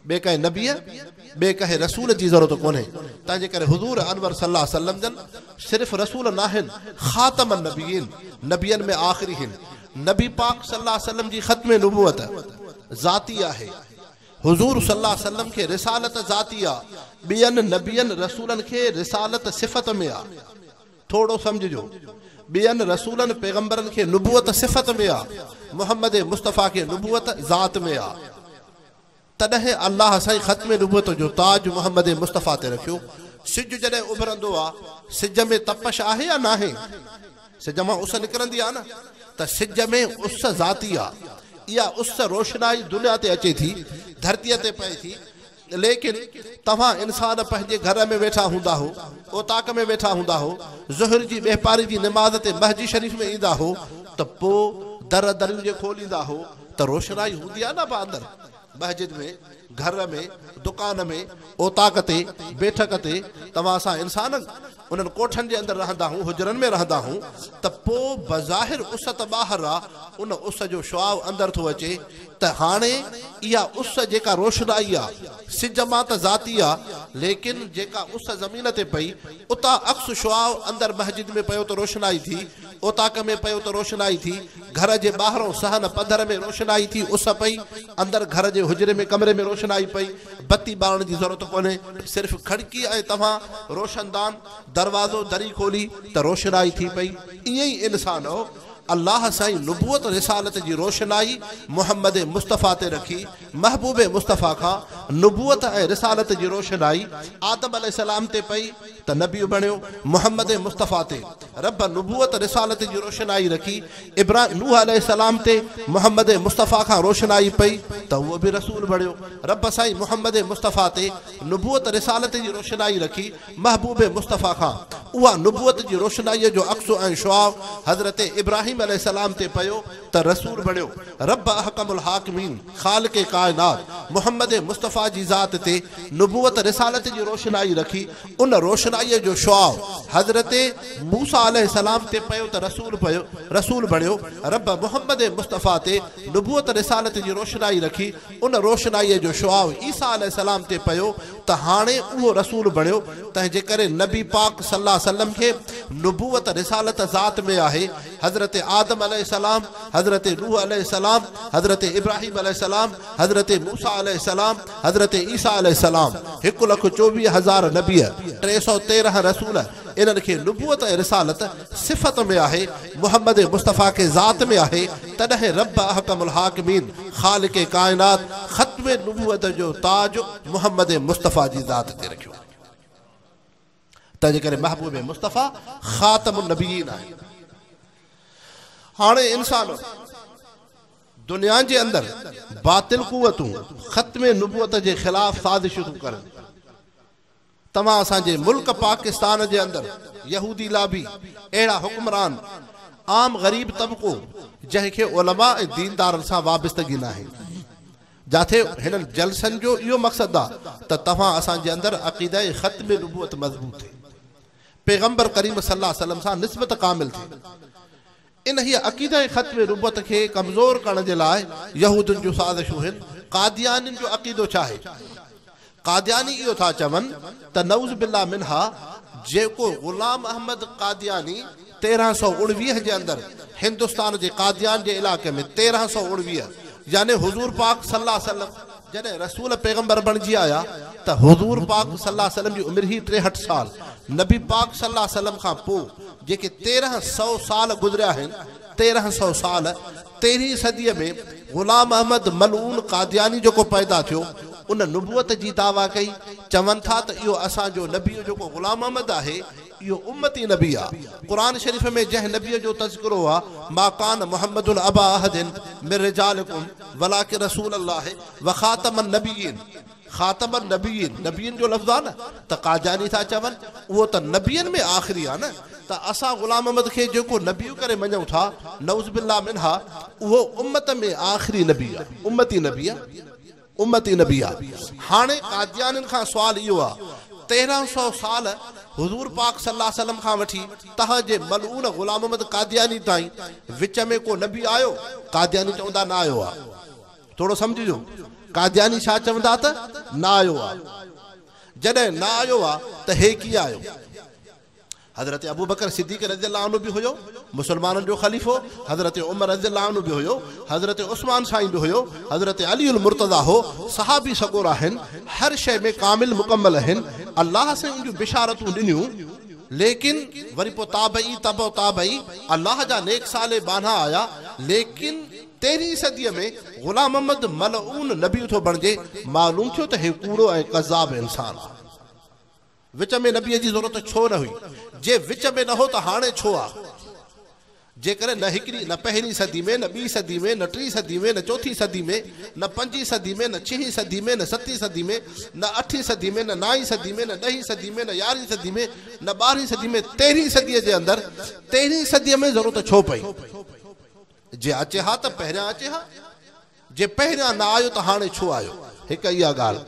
ٻئي ڪنهن نبيء ٻئي ڪنهن رسول جي ضرورت ڪونهي. تنهن جي ڪري حضور انور صلي الله عليه وسلم جن صرف رسول ناهن، خاتم النبيين، نبين ۾ آخري هن. نبي پاڪ صلي الله عليه وسلم جي ختم نبوت ذاتي آهي. حضور صلي الله عليه وسلم کي رسالت ذاتي آ، ٻين نبين رسولن کي رسالت صفت ۾ آ. ٿورو سمجهجو، ٻين رسولن پيغمبرن کي نبوت صفت ۾ آ، محمد مصطفيٰ کي نبوت ذات ۾ آ. تڏهن الله سائين ختم نبوت جو تاج محمد مصطفيٰ تي رکيو. سج جڏهن اڀرندو آ، سج ۾ تپش آهي يا ناهي؟ سج مان اس نڪرندي آ نه، ته سج ۾ اس ذاتي آ. اها اس روشنائي دنيا تي اچي ٿي، ڌرتيء تي پئي ٿي. ليڪن توهان انسان پنهنجي گهر ۾ ويٺا هوندا هو، اوطاق ۾ ويٺا هوندا هو، ظهر جي ٻهپاري جي نماز تي مسجد شريف ۾ ايندا هو ته پوء در دريون جي کوليندا هو ته روشنائي هوندي آ نه ابا اندر مسجد ۾، گهر ۾، دڪان ۾، اوطاق تي، بيٺڪ تي توهان اسان انسان انهن ڪوٺن جي اندر رهندا هون، حجرن ۾ رهندا هون ته پوء بظاهر اس ته ٻاهر آ، ان اس جو شعاع اندر ٿو اچي ته هاڻي اها اس جيڪا روشنائي آ، سج مان ته ذاتي آ، ليڪن جيڪا اس زمين تي پئي، اتان عڪس شعاع اندر مسجد ۾ پيو ته روشنائي ٿي، اوطاق ۾ پيو ته روشنائي ٿي، گهر جي ٻاهرئون صحن پڌر ۾ روشنائي ٿي، اس پئي، اندر گهر جي حجري ۾ ڪمري ۾ روشنائي پئي، بتي ٻارڻ جي ضرورت ڪونهي، صرف کڙڪي ۽ توهان روشندان، دروازو، دري کولي ته روشنائي ٿي پئي، ائين ئي انسانؤ! الله سائين نبوت رسالت جي روشنائي محمد مصطفيٰ تي رکي، محبوب مصطفيٰ کان نبوت ۽ رسالت جي روشنائي آدم عليه السلام تي پئي ته نبي بڻيو، محمد مصطفيٰ تي رب نبوت رسالت جي روشنائي رکي، ابراهيم نوح عليه السلام تي محمد مصطفيٰ کان روشنائي پئي ته اهو به رسول بڻيو، رب سائين محمد مصطفيٰ تي نبوت رسالت جي روشنائي رکي، محبوب مصطفيٰ کان اها نبوت جي روشنائيء جو عڪس ۽ شعاع حضرت ابراهيم عليه السلام تي پيو ته رسول بڻيو. رب احڪم الحاڪمين خالق ڪائنات محمد مصطفيٰ جي ذات تي نبوت رسالت جي روشنائي رکي، ان روشنائيء جو شعاع حضرت موسيٰ عليه السلام تي پيو ته رسول پيو رسول بڻيو. رب محمد مصطفيٰ تي نبوت رسالت جي روشنائي رکي، ان روشنائيء جو شعاع عيسيٰ عليه السلام تي پيو ته هاڻي اهو رسول بڻيو، تنهن جي ڪري نبي پاڪ صلي الله عليه وسلم کي نبوت رسالت ذات ۾ آهي، حضرت آدم عليه السلام، حضرت نوح عليه السلام، حضرت ابراهيم عليه السلام، حضرت موسيٰ عليه السلام، حضرت عيسيٰ عليه السلام، 1,24,000 نبي، 313 رسول، انهن کي نبوت ۽ رسالت صفت ۾ آهي، محمد مصطفيٰ کي ذات ۾ آهي، تڏهن رب احڪم الحاڪمين خالق ڪائنات ختم نبوت جو تاج محمد مصطفيٰ جي ذات تي رکيو. تنهن جي ڪري محبوب مصطفيٰ خاتم النبيين آهي. هاڻي انسان دنيا جي اندر باطل قوتون ختم نبوت جي خلاف سازشون ٿيون ڪرن. توهان اسان جي ملڪ پاڪستان جي اندر يهودي لابي اهڙا حڪمران عام غريب طبقو جنهن کي علماء ۽ ديندارن سان وابستگي ناهي جاٿي هنن جلسن جو اهو مقصد آ ته توهان اسان جي اندر عقيده ختم نبوت مضبوط ٿئي پيغمبر ڪريم صلي الله عليه وسلم سان نسبت ڪامل ٿئي. انهيء عقيده ختم نبوت کي ڪمزور ڪرڻ جي لاء يهودين جون سازشون هن. قاديانين جو عقيدو ڇا آهي؟ قادياني اهو ٿا چون ته نعوذ بالله منها جيڪو غلام احمد قادياني 1319 جي اندر هندستان جي قاديان جي علائقي ۾ 1319 يعني حضور پاڪ صلي الله عليه وسلم جڏهن رسول پيغمبر بڻجي آيا ته حضور پاڪ صلي الله عليه وسلم جي عمر هئي 63 سال. نبي پاڪ صلي الله عليه وسلم کان پوء جيڪي 1300 سال گذريا آهن، 1300 سال، 13هين صديء ۾ غلام احمد ملعون قادياني جيڪو پيدا ٿيو، ان نبوت جي دعويٰ ڪئي. چون ٿا ته اهو اسان جو نبي جيڪو غلام احمد آهي، اهو امتي نبي آ. قرآن شريف ۾ جنهن نبيء جو تذڪرو آ، ما ڪان محمد ابا احد من رجالڪم ولڪن رسول الله وخاتم النبيين، خاتم النبيين، نبيين جو لفظ آ نه، ته قادياني ٿا چون اهو ته نبين ۾ آخري آ نه، ته اسان غلام احمد کي جيڪو نبي ڪري مڃون ٿا، نعوذ بالله منها، اهو امت ۾ آخري نبي آ، امتي نبي آ. امتي نبي آ. هاڻي قاديانين کان سوال اهو آ، 1300 سال حضور پاڪ صلي الله عليه وسلم کان وٺي تهان جي ملعون غلام احمد قادياني تائين وچ ۾ ڪو نبي آيو؟ قادياني چوندا نه آيو آ. ٿورو سمجهجو، قادياني ڇا چوندا ته نه آيو آ. جڏهن نه آيو آ ته هي ڪيئن آيو؟ حضرت ابوبڪر صديق رضي الله عنه به هيو، مسلمانن جو خليفو، حضرت عمر رضي الله عنه به هيو، حضرت عثمان سائين به هيو، حضرت علي المرتضيٰ هو، صحابي سڳورا آهن، هر شيء ۾ ڪامل مڪمل آهن، الله سائين ان جون بشارتون ڏنيون، ليڪن وري پوء تابعي تبع تابعي الله جا نيڪ صالح ٻانها آيا، ليڪن تيرهين صديء ۾ غلام محمد ملعون نبي ٿو بڻجي، معلوم ٿيو ته هي ڪوڙو ۽ ڪذاب انسان آ. وچ ۾ نبيء جي ضرورت ڇو نه هئي؟ جي وچ ۾ نه هو ته هاڻي ڇو آ؟ جيڪڏهن نه هڪڙي، نه پهرين صدي ۾، نه ٻي صدي ۾، نه ٽين صدي ۾، نه چوٿين صدي ۾، نه پنجين صدي ۾، نه ڇهين صدي ۾، نه ستين صدي ۾، نه اٺين صدي ۾، نه نائين صدي ۾، نه ڏهين صدي ۾، نه يارهين صدي ۾، نه ٻارهين صدي ۾، تيرهين صديء جي اندر، تيرهين صديء ۾ ضرورت ڇو پئي؟ جي اچي ها ته پهريان اچي ها. جي پهريان نه آيو ته هاڻي ڇو آيو؟ هڪ اها ڳالهه.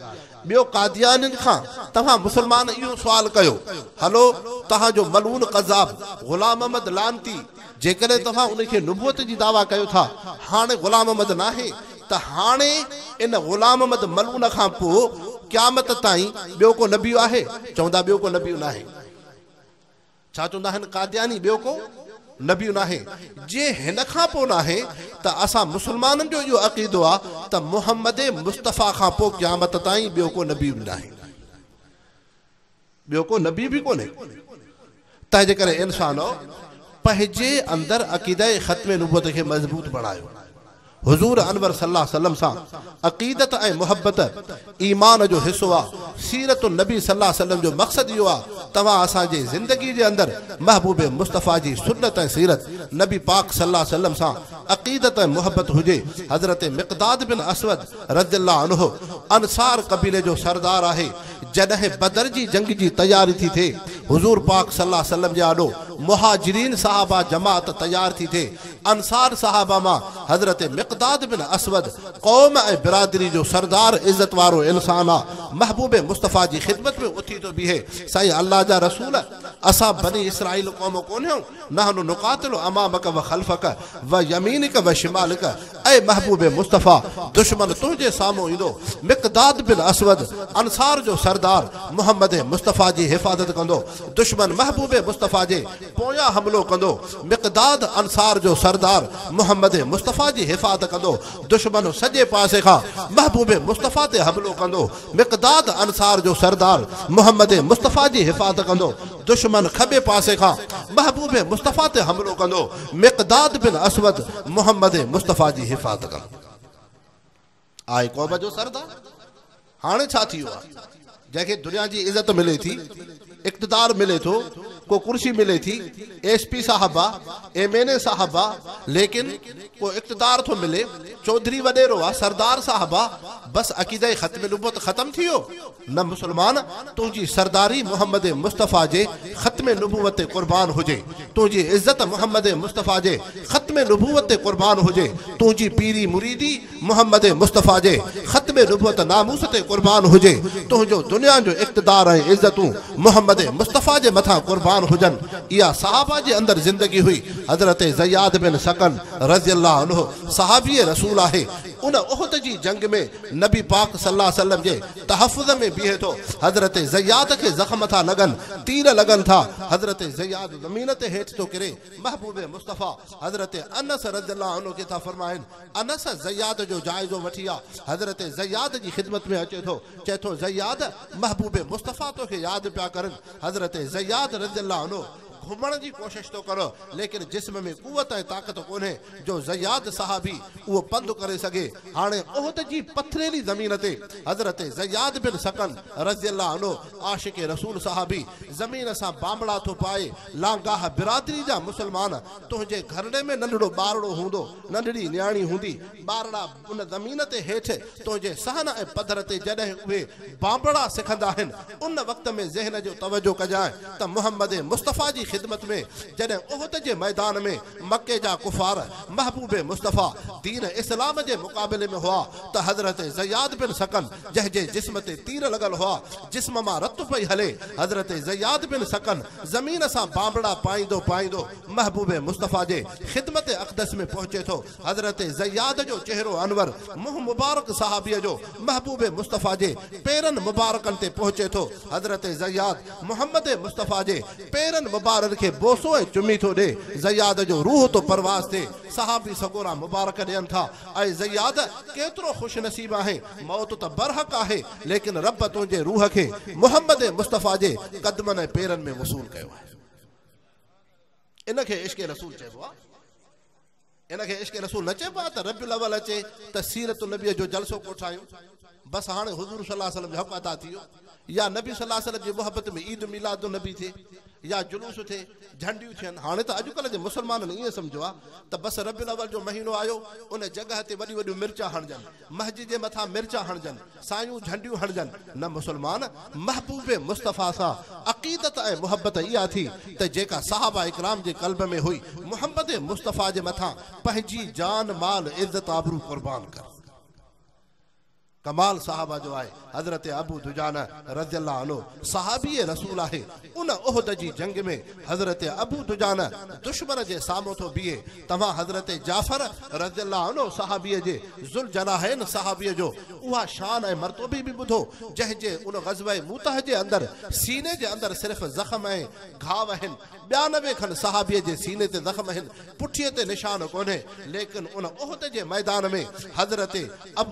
ٻيو قاديانين کان توهان مسلمان اهو سوال ڪيو، هلو توهان جو ملعون ڪذاب غلام احمد لعنتي جيڪڏهن توهان ان کي نبوت جي دعويٰ ڪيو ٿا، هاڻي غلام احمد ناهي ته هاڻي ان غلام احمد ملعون کان پوء قيامت تائين ٻيو ڪو نبي آهي؟ چوندا ٻيو ڪو نبي ناهي. ڇا چوندا آهن قادياني ٻيو ڪو نبي ناهي، جي هن کان پوء ناهي ته اسان مسلمانن جو اهو عقيدو آ ته محمد مصطفيٰ کان پوء قيامت تائين ٻيو ڪو نبي به ناهي، ٻيو ڪو نبي به ڪونهي. تنهن جي ڪري انسانؤ پنهنجي اندر عقيده ختم نبوت کي مضبوط بڻايو. حضور انور صلي الله عليه وسلم سان عقيدت ۽ محبت ايمان جو حصو آ، سيرت النبي صلي الله عليه وسلم جو مقصد اهو آ توهان اسان جي زندگي جي اندر محبوب مصطفيٰ جي سنت ۽ سيرت نبي پاڪ صلي الله عليه وسلم سان عقيدت ۽ محبت هجي. حضرت مقداد بن اسود رضي الله عنه انصار قبيلي جو سردار آهي، جڏهن بدر جي جنگ جي تياري ٿي ٿئي، حضور پاڪ صلي الله عليه وسلم جي آڏو مهاجرين صحابه جماعت تيار ٿي ٿئي، انصار صحابه مان حضرت مقداد بن اسود قوم ۽ برادري جو سردار عزت وارو انسان آ، محبوب مصطفيٰ جي خدمت ۾ اٿي ٿو بيهي، سائين الله جا رسول! اسان بني اسرائيل قوم ڪونهيون، نحن نقاتل امامک و خلفک و يمينک و شمالک، اي محبوب مصطفيٰ! دشمن تنهنجي سامهون ايندو، مقداد بن اسود انصار جو سردار محمد مصطفيٰ جي حفاظت ڪندو، دشمن محبوب مصطفيٰ جي پويان حملو ڪندو، مقداد انصار جو سردار محمد مصطفيٰ جي حفاظت ڪندو، دشمن سڄي پاسي کان محبوب مصطفيٰ تي حملو ڪندو، مقداد انصار جو سردار محمد مصطفيٰ جي حفاظت ڪندو، دشمن کٻي پاسي کان محبوب مصطفيٰ تي حملو ڪندو، مقداد بن اسود محمد مصطفيٰ جي حفاظت ڪندو. آهي قوم جو سردار. هاڻي ڇا ٿي ويو آهي؟ جنهن کي دنيا جي عزت ملي ٿي، اقتدار ملي ٿو، ڪو ڪرسي ملي ٿي، ايس پي صاحب آ، ايم اين اي صاحب آ، ليڪن ڪو اقتدار ٿو ملي، چوڌري وڏيرو آ، سردار صاحب آ، بس عقيده ختم نبوت ختم ٿي ويو؟ نه مسلمان، تنهنجي سرداري محمد مصطفيٰ جي ختم نبوت تي قربان هجي، تنهنجي عزت محمد مصطفيٰ جي ختم نبوت تي قربان هجي، تنهنجي پيري مريدي محمد مصطفيٰ جي ختم نبوت ناموس تي قربان هجي، تنهنجو دنيا جو اقتدار ۽ عزتون محمد مصطفيٰ جي مٿان قربان هجن. اها صحابه جي اندر زندگي هئي. حضرت زياد بن سڪن رضي الله عنه صحابي رسول آهي. ان احد جي جنگ ۾ نبي پاڪ صلي الله عليه وسلم جي تحفظ ۾ بيهي ٿو. حضرت زياد کي زخم ٿا لڳن، تير لڳن ٿا، حضرت زياد زمين تي هيٺ ٿو ڪري. محبوب مصطفيٰ حضرت انس رضي الله عنه کي ٿا فرمائن، انس زياد جو جائزو وٺي آ. حضرت زياد جي خدمت ۾ اچي ٿو، چئي ٿو، زياد! محبوب مصطفيٰ توکي ياد پيا ڪرن. حضرت زياد رضي الله عنه گهمڻ جي ڪوشش ٿو ڪري، ليڪن جسم ۾ قوت ۽ طاقت ڪونهي جو زياد صحابي اهو پنڌ ڪري سگهي. هاڻي احد جي پٿريلي زمين تي حضرت زياد بن سڪن رضي الله عنه عاشق رسول صحابي زمين سان بانبڙا ٿو پائي، لانگاهه برادري جا مسلمان، تنهنجي گهرڙي ۾ ننڍڙو ٻارڙو هوندو، ننڍڙي نياڻي هوندي، ٻارڙا ان زمين تي هيٺ تنهنجي صحن ۽ پڌر تي جڏهن اهي بانبڙا سکندا آهن، ان وقت ۾ ذهن جو توجه ڪجانء ته محمد مصطفيٰ جي خدمت ۾ جڏهن احد جي ميدان ۾ مڪي جا ڪفار محبوب مصطفيٰ دين اسلام جي مقابلي ۾ هئا ته حضرت زياد بن سڪن جنهن جي جسم تي تير لڳل هئا، جسم مان رت پئي هلي، حضرت زياد بن سڪن زمين سان بانبڙا پائيندو پائيندو محبوب مصطفيٰ جي خدمت اقدس ۾ پهچي ٿو. حضرت زياد جو چهرو انور، منهن مبارڪ صحابيء جو محبوب مصطفيٰ جي پيرن مبارڪن تي پهچي ٿو. حضرت زياد محمد مصطفيٰ جي پيرن مبارڪ کي بوسو ۽ چمي ٿو ڏي. زياد جو روح ٿو پرواز ٿئي. صحابي سڳورا مبارڪ ڏين ٿا، اي زياد! ڪيترو خوش نصيب آهين، موت ته برحق آهي، ليڪن رب تنهنجي روح کي محمد مصطفيٰ جي قدمن ۽ پيرن ۾ وصول ڪيو آهي. ان کي عشق رسول چئبو آهي. ان کي عشق رسول نه چئبو آهي ته ربيع الاول اچي ته سيرت النبيء جو جلسو ڪوٺايون، بس هاڻي حضور صلي الله عليه وسلم جو حق ادا ٿي ويو، يا نبي صلي الله عليه وسلم جي محبت ۾ عيد ميلاد النبي ٿئي يا جلوس ٿئي، جهنڊيون ٿين. هاڻي ته اڄڪلهه جي مسلمانن ائين سمجهيو آهي ته بس ربيع الاول جو مهينو آيو، ان جڳهه تي وڏيون وڏيون مرچا هڻجن، مسجد جي مٿان مرچا هڻجن، سايون جهنڊيون هڻجن. نه مسلمان! محبوب مصطفيٰ سان عقيدت ۽ محبت اها ٿي ته جيڪا صحابه اڪرام جي قلب ۾ هئي، محمد مصطفيٰ جي مٿان پنهنجي جان، مال، عزت، آبرو قربان ڪر. ڪمال صحابه جو آهي. حضرت ابو دجانه رضي الله عنه صحابي رسول آهي. ان احد جي جنگ ۾ حضرت ابو دجانه دشمن جي سامهون ٿو بيهي. توهان حضرت جعفر رضي الله عنه صحابيء جي ذوالجناحين صحابيء جو اها شان ۽ مرتبي به ٻڌو، جنهن جي ان غزوه موته جي اندر سيني جي اندر صرف زخم ۽ گهاو آهن، 92 کن صحابيء جي سيني تي زخم آهن، پٺيء تي نشان ڪونهي، ليڪن ان احد جي ميدان ۾ حضرت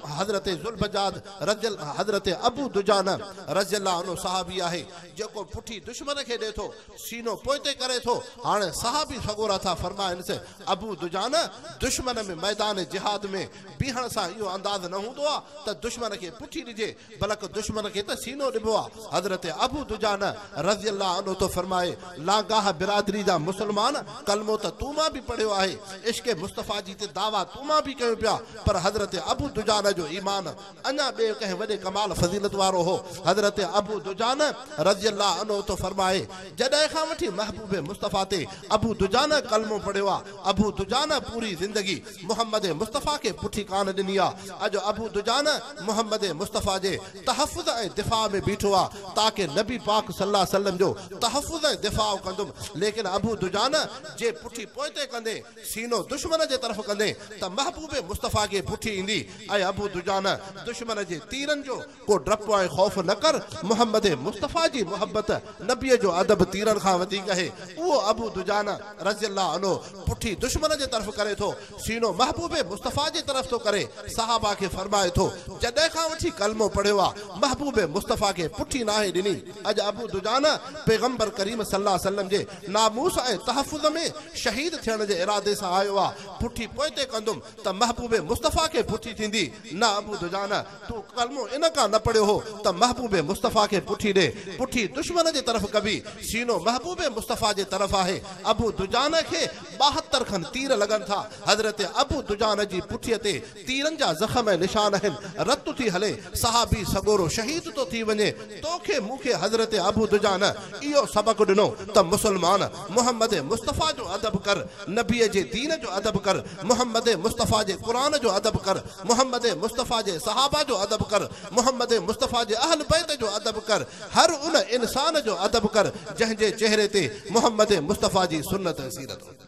حضرت ذوالبجاد رضي حضرت ابو دجانه رضي الله عنه صحابي آهي، جيڪو پٺي دشمن کي ڏئي ٿو، سينو پوئتي ڪري ٿو، هاڻي صحابي سڳورا ٿا فرمائنس، ابو دجانه! دشمن ۾ ميدان جهاد ۾ بيهڻ سان اهو انداز نه هوندو آ ته دشمن کي پٺي ڏجي، بلڪ دشمن کي ته سينو ڏبو آ. حضرت ابو دجانه رضي الله عنه ٿو فرمائي، لانگاهه برادري جا مسلمان ڪلمو ته تون مان به پڙهيو آهي، عشق مصطفيٰ جي ته دعويٰ تون مان به ڪيون پيا، پر حضرت ابو دجانه جو ايمان اڃا ٻئي ڪنهن وڏي ڪمال فضيلت وارو هو. حضرت ابو دجانه رضي الله عنه ٿو فرمائي، جڏهن کان وٺي محبوب مصطفيٰ تي ابو دجانه ڪلمو پڙهيو آ، ابو دجانه پوري زندگي محمد مصطفيٰ کي پٺي ڪانه ڏني آ. اڄ ابو دجانه محمد مصطفيٰ جي تحفظ ۽ دفاع ۾ بيٺو آ، تاڪه نبي پاڪ صلي الله عليه وسلم جو تحفظ ۽ دفاع ڪندم، ليڪن ابو دجانه جي پٺي پوئتي ڪندي، سينو دشمن جي طرف ڪندين ته محبوب مصطفيٰ کي پٺي ايندي، اي ابو دجانه! دشمن جي تيرن جو ڪو ڊپ ۽ خوف نه ڪر، محمد مصطفيٰ جي محبت، نبيء جو ادب تيرن کان وڌيڪ آهي. اهو ابو دجانه رضي الله عنه پٺي دشمن جي طرف ڪري ٿو، سينو محبوب مصطفيٰ جي طرف ٿو ڪري، صحابه کي فرمائي ٿو، جڏهن کان وٺي ڪلمو پڙهيو آ، محبوب مصطفيٰ کي پٺي ناهي ڏني. اڄ ابو دجانه پيغمبر ڪريم صلي الله عليه وسلم جي ناموس ۽ تحفظ ۾ شهيد ٿيڻ جي ارادي سان آيو آ، پٺي پوئتي ڪندم ته محبوب مصطفيٰ کي پٺي ٿيندي، نه ابو دجانه، تون ڪلمو ان کان نه پڙهيو هو ته محبوب مصطفيٰ کي پٺي ڏي، پٺي دشمن جي طرف ڪبي، سينو محبوب مصطفيٰ جي طرف آهي، ابو دجانه کي 72 کن تير لڳن ٿا، حضرت ابو دجانه جي پٺيء تي تيرن جا زخم ۽ نشان آهن، رت ٿي هلي، صحابي سڳورو شهيد ٿو ٿي وڃي، توکي مون کي حضرت ابو دجانه اهو سبق ڏنو ته مسلمان محمد مصطفيٰ جو ادب ڪر، نبيء جي دين جو ادب ڪر، محمد مصطفيٰ جي قرآن جو ادب ڪر، محمد مصطفيٰ جي صحابه جو ادب ڪر، محمد مصطفيٰ جي اهل بيت جو ادب ڪر، هر ان انسان جو ادب ڪر جنهن جي چهري تي محمد مصطفيٰ جي سنت ۽ سيرت هجي.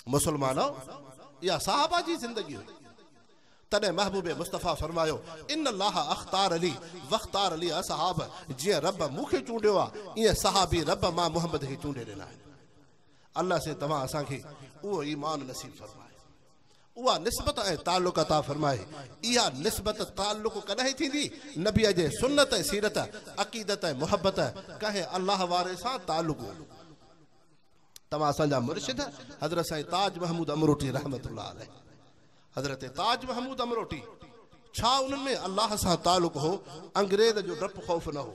مسلمانؤ! اها صحابه جي زندگي هئي. تڏهن محبوب مصطفيٰ فرمايو، ان الله اختار لي واختار لي اصحاب، جيئن رب مون کي چونڊيو آ، ايئن صحابي رب مان محمد کي چونڊي ڏنا آهن. الله سائين توهان اسان کي اهو ايمان نصيب فرمائي، اها نسبت ۽ تعلق عطا فرمائي. اها نسبت تعلق ڪڏهن ٿيندي؟ نبيء جي سنت ۽ سيرت، عقيدت ۽ محبت، ڪنهن الله واري سان تعلق هوندو. توهان اسان جا مرشد حضرت سائين تاج محمود امروٽي رحمة الله عليه. حضرت تاج محمود امروٽي، ڇا انهن ۾ الله سان تعلق هو؟ انگريز جو ڊپ خوف نه هو،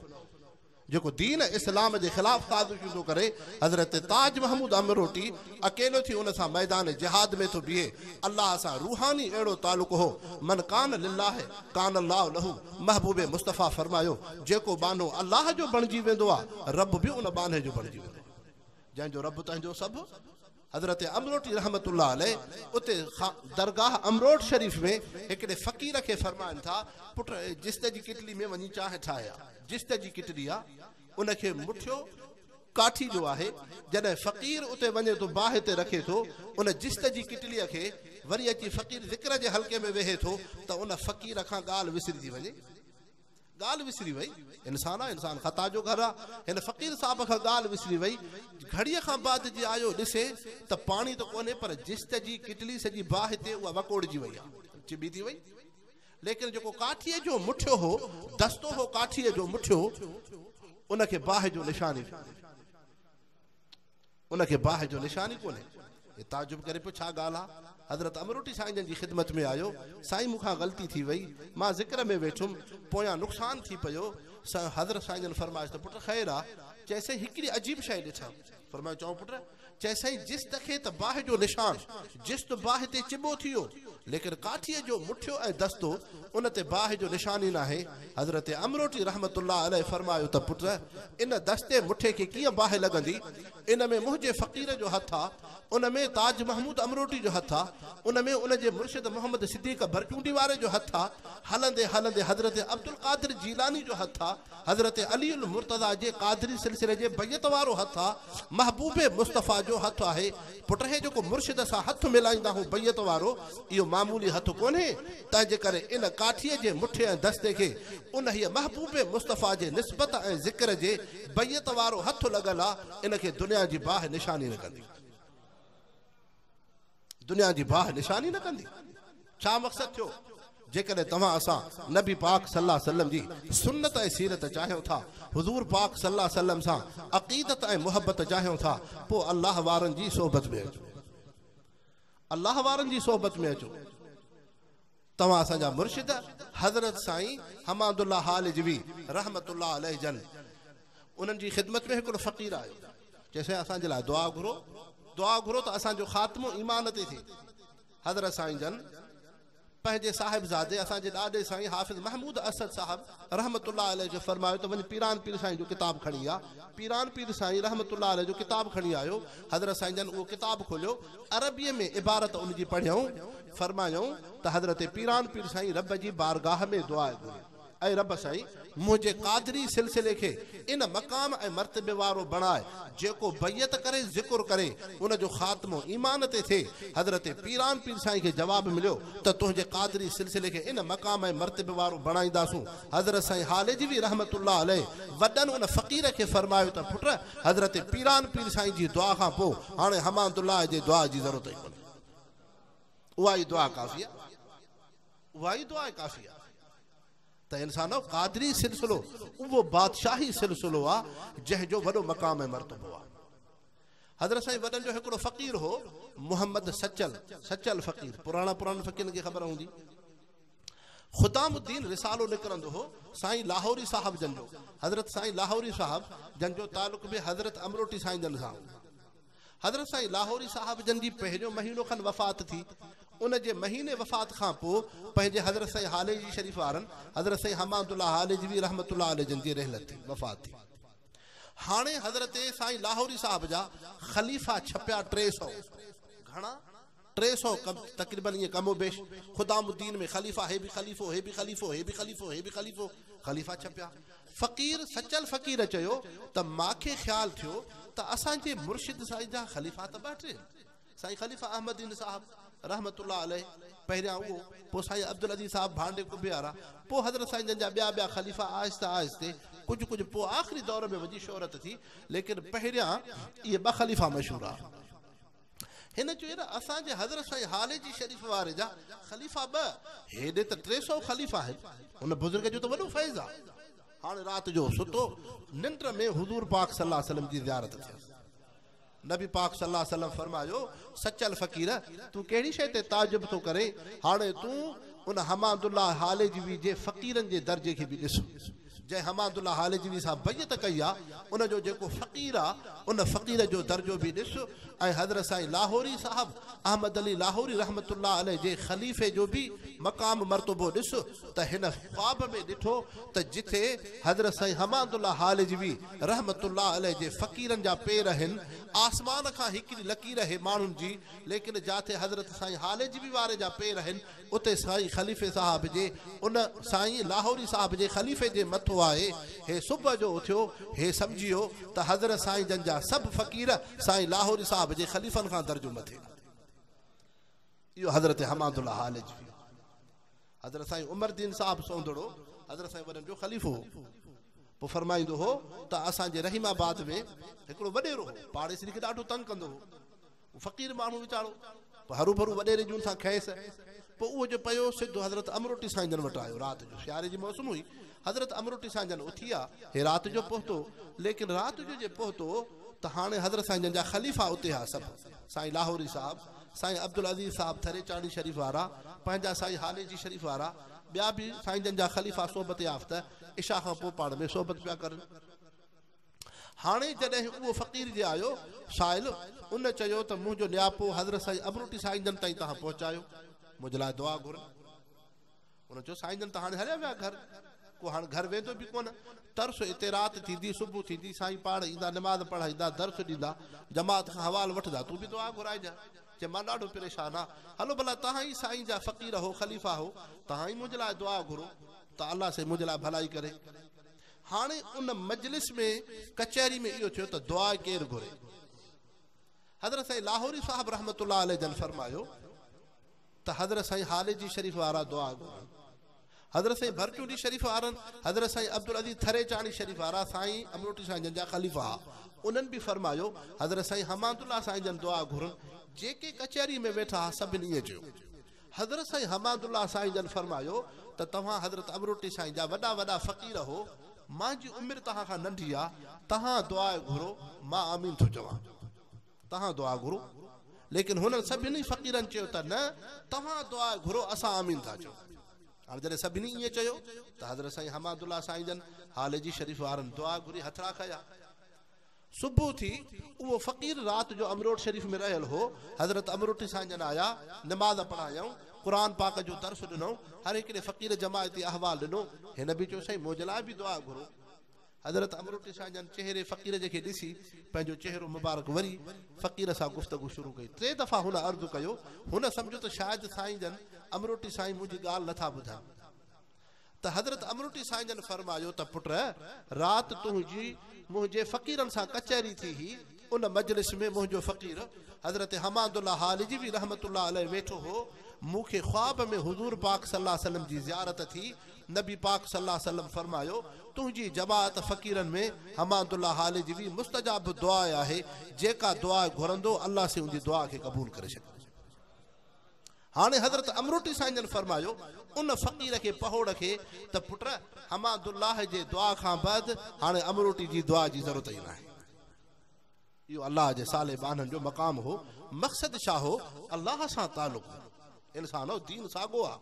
جيڪو دين اسلام جي خلاف سازشون ٿو ڪري. حضرت تاج محمود امروٽي اڪيلو ٿي ان سان ميدان جهاد ۾ ٿو بيهي. الله سان روحاني اهڙو تعلق هو، من ڪان لله ڪان الله له، محبوب مصطفيٰ فرمايو، جيڪو ٻانهو الله جو بڻجي ويندو آ، رب به ان ٻانهي جو بڻجي ويندو آ. جنهن جو رب تنهن جو سڀ. حضرت امروٽي رحمة الله عليه اتي درگاهه امروٽ شريف ۾ هڪڙي فقير کي فرمائن ٿا، پٽ جست جي ڪٽلي ۾ وڃي چانهه ٺاهي آ. جست جي ڪٽلي آ، ان کي مٺيو ڪاٺي جو آهي. جڏهن فقير اتي وڃي ٿو باهه تي رکي ٿو ان جست جي ڪٽليء کي، وري اچي فقير ذڪر جي حلقي ۾ ويهي ٿو ته ان فقير کان ڳالهه وسري ٿي وڃي. ڳالهه وسري وئي. انسان آ، انسان خطا جو گهر آ. هن فقير صاحب کان ڳالهه وسري وئي. گهڙيء کان بعد جي آيو ڏسي ته پاڻي ته ڪونهي پر جست جي ڪٽلي سڄي باهه تي اها وڪوڙجي وئي آ، چٻي ٿي وئي. ليڪن جيڪو ڪاٺيء جو مٺيو هو، دستو هو ڪاٺيء جو مٺيو، ان کي باهه جو نشان ئي ڪونهي. ان کي باهه جو نشان ئي ڪونهي. هي تعجب ڪري پيو ڇا ڳالهه آ؟ حضرت امروٽي سائين جن جي خدمت ۾ آيو، سائين مون کان غلطي ٿي وئي، مان ذڪر ۾ ويٺم، پويان نقصان ٿي پيو. حضرت سائين جن فرمايس ته پٽ خير آ؟ چيس سائين هڪڙي عجيب شيء ڏٺم. فرمايو چئو پٽ. چيس سائين جست کي ته باهه جو نشان، جست باهه تي چٻو ٿي ويو، ليڪن ڪاٺيء جو مٺيو ۽ دستو ان تي باهه جو نشان ئي ناهي. حضرت امروٽي رحمة الله عليه فرمايو ته پٽ! ان دستي مٺي کي ڪيئن باهه لڳندي؟ ان ۾ منهنجي فقير جو هٿ آ، ان ۾ تاج محمود امروٽي جو هٿ آ، ان ۾ ان جي مرشد محمد صديق ڀرچونڊي واري جو هٿ آ، هلندي هلندي حضرت عبدالقادر جيلاني جو هٿ آ، حضرت علي المرتضيٰ جي قادري سلسلي جي بيعت وارو هٿ آ، محبوب مصطفيٰ جو هٿ آهي. پٽ هي جيڪو مرشد سان هٿ ملائيندا هون بيعت وارو، اهو معمولي هٿ ڪونهي، تنهنجي ڪري ان ڪاٺيء جي مٺي ۽ دستي کي انهيء محبوب مصطفيٰ جي نسبت ۽ ذڪر جي بيعت وارو هٿ لڳل آ، ان کي دنيا جي باهه نشاني نه ڪندي. دنيا جي باهه نشاني نه ڪندي. ڇا مقصد ٿيو؟ جيڪڏهن توهان اسان نبي پاڪ صلي الله عليه وسلم جي سنت ۽ سيرت چاهيون ٿا، حضور پاڪ صلي الله عليه وسلم سان عقيدت ۽ محبت چاهيون ٿا، پوء الله وارن جي صحبت ۾ اچو. الله وارن جي صحبت ۾ اچو. توهان اسان جا مرشد حضرت سائين حماد الله هالجوي رحمة الله عليه جن انهن جي خدمت ۾ هڪڙو فقير آيو. چيس سائين اسان جي لاء دعا گهرو، دعا گهرو ته اسان جو خاتمو ايمان تي ٿئي. حضرت سائين جن پنهنجي صاحبزادي اسان جي ڏاڏي سائين حافظ محمود اسد صاحب رحمة الله عليه کي فرمايو ته وڃ پيران پير سائين جو ڪتاب کڻي آ. پيران پير سائين رحمة الله عليه جو ڪتاب کڻي آيو. حضرت سائين جن اهو ڪتاب کوليو، عربيء ۾ عبارت ان جي پڙهيائون، فرمايائون ته حضرت پيران پير سائين رب جي بارگاهه ۾ دعا گهري. اي رب سائين! منهنجي قادري سلسلي کي ان مقام ۽ مرتبي وارو بڻاء، جيڪو بيعت ڪري ذڪر ڪري، ان جو خاتمو ايمان تي ٿئي. حضرت پيران پير سائين کي جواب مليو ته تنهنجي قادري سلسلي کي ان مقام ۽ مرتبي وارو بڻائينداسون. حضرت سائين هاليجوي رحمة الله عليه وڏن ان فقير کي فرمايو ته پٽ! حضرت پيران پير سائين جي دعا کان پوء هاڻي حماد الله جي دعا جي ضرورت ئي ڪونهي. اها ئي دعا ڪافي آهي. اها ئي دعا ڪافي آهي ته انسانو قادري سلسلو اهو بادشاهي سلسلو آ جنهن جو وڏو مقام ۽ مرتبو آ. حضرت سائين وڏن جو هڪڙو فقير هو محمد سچل، سچل فقير، پراڻا پراڻن فقيرن کي خبر هوندي. خدام الدين رسالو نڪرندو هو سائين لاهوري صاحب جن جو، حضرت سائين لاهوري صاحب جن جو تعلق به حضرت امروٽي سائين جن سان هو. حضرت سائين لاهوري صاحب جن جي پهريون مهينو کن وفات ٿي، ان جي مهيني وفات کان پوء پنهنجي حضرت سائين هاليجي شريف وارن حضرت سائين حماد الله هاليجوي رحمة الله عليه جن جي رحلت ٿي، وفات ٿي. هاڻي حضرت سائين لاهوري صاحب جا خليفا ڇپيا 300، گهڻا؟ 300 تقريباً ائين ڪم و بيش، خدام الدين ۾ خليفا هي به خليفو، هي به خليفو، هي به خليفو، هي به خليفو، خليفا ڇپيا. فقير سچل فقير چيو ته ماکي خيال ٿيو ته اسان جي مرشد سائين جا خليفا ته ٻه ٽي آهن، سائين خليفه احمد دين صاحب رحمة الله عليه پهريان اهو، پوء سائين عبدالعزيز صاحب ڀانڊي قبي وارا، پوء حضرت سائين جن جا ٻيا ٻيا خليفا آهستي آهستي ڪجهه ڪجهه پوء آخري دور ۾ وڃي شهرت ٿي، ليڪن پهريان اهي ٻه خليفا مشهور ها. هن چيو يار اسان جي حضرت سائين هاليجي شريف واري جا خليفا ٻه، هيڏي ته 300 خليفا آهن، هن بزرگ جو ته وڏو فيض آ. هاڻي رات جو ستو، ننڊ ۾ حضور پاڪ صلي الله عليه وسلم جي زيارت ٿيس. نبي پاڪ صلي الله عليه وسلم فرمايو، سچل فقير! تون ڪهڙي شيء تي تعجب ٿو ڪرين؟ هاڻي تون ان حماد الله هاليجوي جي فقيرن جي درجي کي به ڏس. جنهن حماد الله هاليجوي سان بيعت ڪئي آ، ان جو جيڪو فقير آ، ان فقير جو درجو به ڏس ۽ حضرت سائين لاهوري صاحب احمد علي لاهوري رحمة الله عليه جي خليفي جو به مقام مرتبو ڏس ته هن خواب ۾ ڏٺو ته جٿي حضرت سائين حماد الله هاليجوي رحمة الله عليه جي فقيرن جا پير هن، آسمان کان هڪڙي لڪير هي ماڻهن جي، ليڪن جاٿي حضرت سائين هاليجوي واري جا پير هن، اتي سائين خليفي صاحب جي ان سائين لاهوري صاحب جي خليفي جي مٿو آهي. هي صبح جو اٿيو، هي سمجهيو ته حضرت سائين جن جا سڀ فقير سائين لاهوري صاحب جي خليفن کان درجو مٿي. اهو حضرت حماد الله هاليجوي. حضرت سائين عمر دين صاحب سوندڙو حضرت سائين وڏن جو خليفو هو. پوء فرمائيندو هو ته اسان جي رحيم آباد ۾ هڪڙو وڏيرو هو، پاڙيسري کي ڏاڍو تنگ ڪندو هو. فقير ماڻهو ويچارو، پوء هروڀرو وڏيري جون سان کيس. پوء اهو جو پيو سڌو حضرت امروٽي سائين جن وٽ آيو. رات جو سياري جي موسم هئي. حضرت امروٽي سائين جن اٿيا، هي رات جو پهتو. ليڪن رات جو جي پهتو ته هاڻي حضرت سائين جن جا خليفا اتي ها سڀ، سائين لاهوري صاحب، سائين عبدالعزيز صاحب ٿريچاڻي شريف وارا، پنهنجا سائين هاليجي شريف وارا، ٻيا به سائين جن جا خليفا صحبت يافته عشاء کان پوء پاڻ ۾ صحبت پيا ڪرن. هاڻي جڏهن اهو فقير جي آيو، سائل، ان چيو ته منهنجو نياپو حضرت سائين امروٽي سائين جن تائين توهان پهچايو، منهنجي لاء دعا گهرن. هن چيو سائين جن ته هاڻي هليا ويا گهر، ڪو هاڻ گهر ويندو به ڪونه، ترس اتي رات ٿيندي، صبح ٿيندي، سائين پاڻ ايندا، نماز پڙهائيندا، درس ڏيندا، جماعت کان حوال وٺندا، تون به دعا گهرائجان. چي مان ڏاڍو پريشان آ، هلو ڀلا توهان ئي سائين جا فقير هو، خليفا هو، توهان ئي منهنجي لاء دعا گهرو ته الله سائين منهنجي لاء ڀلائي ڪري. هاڻي ان مجلس ۾ ڪچهري ۾ اهو ٿيو ته دعا ڪير گهري؟ حضرت سائين لاهوري صاحب رحمة الله عليه جن فرمايو ته حضرت سائين هاليجي شريف وارا دعا گهرن، حضرت سائين ڀرچونڊي شريف وارن، حضرت سائين عبدالعزيز ٿريچاڻي شريف وارا سائين امروٽي سائين جن جا خليفا ها، انهن به فرمايو حضرت سائين حماد الله سائين جن دعا گهرن، جيڪي ڪچهري ۾ ويٺا ها سڀن ائين چيو. حضرت سائين حماد الله سائين جن فرمايو ته توهان حضرت امروٽي سائين جا وڏا وڏا فقير هو، مانجي عمر توهان کان ننڍي آ، توهان دعا گهرو، مان آمين ٿو چوان. توهان دعا گهرو. ليڪن هنن سڀني فقيرن چيو ته نه، توهان دعا گهرو، اسان آمين ٿا چئون. هاڻي جڏهن سڀني ائين چيو ته حضرت سائين حماد الله سائين جن هاليجي شريف وارن دعا گهري هٿڙا کنيا. صبح ٿي، اهو فقير رات جو امروٽ شريف ۾ رهيل هو، حضرت امروٽي سائين جن آيا، نماز پڙهايائون، قرآن پاڪ جو درس ڏنائون، هر هڪڙي فقير جماعتي احوال ڏنو، هن به چيو سائين منهنجي لاء به دعا گهرو. حضرت امروٽي سائين جن چهري فقير جي کي ڏسي پنهنجو چهرو مبارڪ وري فقير سان گفتگو شروع ڪئي، ٽي دفعا هن عرض ڪيو، هن سمجهيو ته شايد سائين جن امروٽي سائين منهنجي ڳالهه نٿا ٻڌن. ته حضرت امروٽي سائين جن فرمايو ته پٽ رات تنهنجي منهنجي فقيرن سان ڪچهري ٿي هئي، ان مجلس ۾ منهنجو فقير حضرت حماد الله هاليجوي رحمة الله عليه ويٺو هو، مون کي خواب ۾ حضور پاڪ صلي الله عليه وسلم جي زيارت ٿي، نبي پاڪ صلي الله عليه وسلم فرمايو، تنهنجي جماعت فقيرن ۾ حماد الله هاليجوي مستجاب الدعاء آهي، جيڪا دعا گهرندو الله سائين ان جي دعا کي قبول ڪري ڇڏيندو. هاڻي حضرت امروٽي سائين جن فرمايو، ان فقير کي پهوڙ کي ته پٽ حماد الله جي دعا کان بعد هاڻي امروٽي جي دعا جي ضرورت ئي ناهي. اهو الله جي صالح ٻانهن جو مقام هو، مقصد ڇا هو؟ الله سان تعلق هو. انسانو دين ساڳو آ.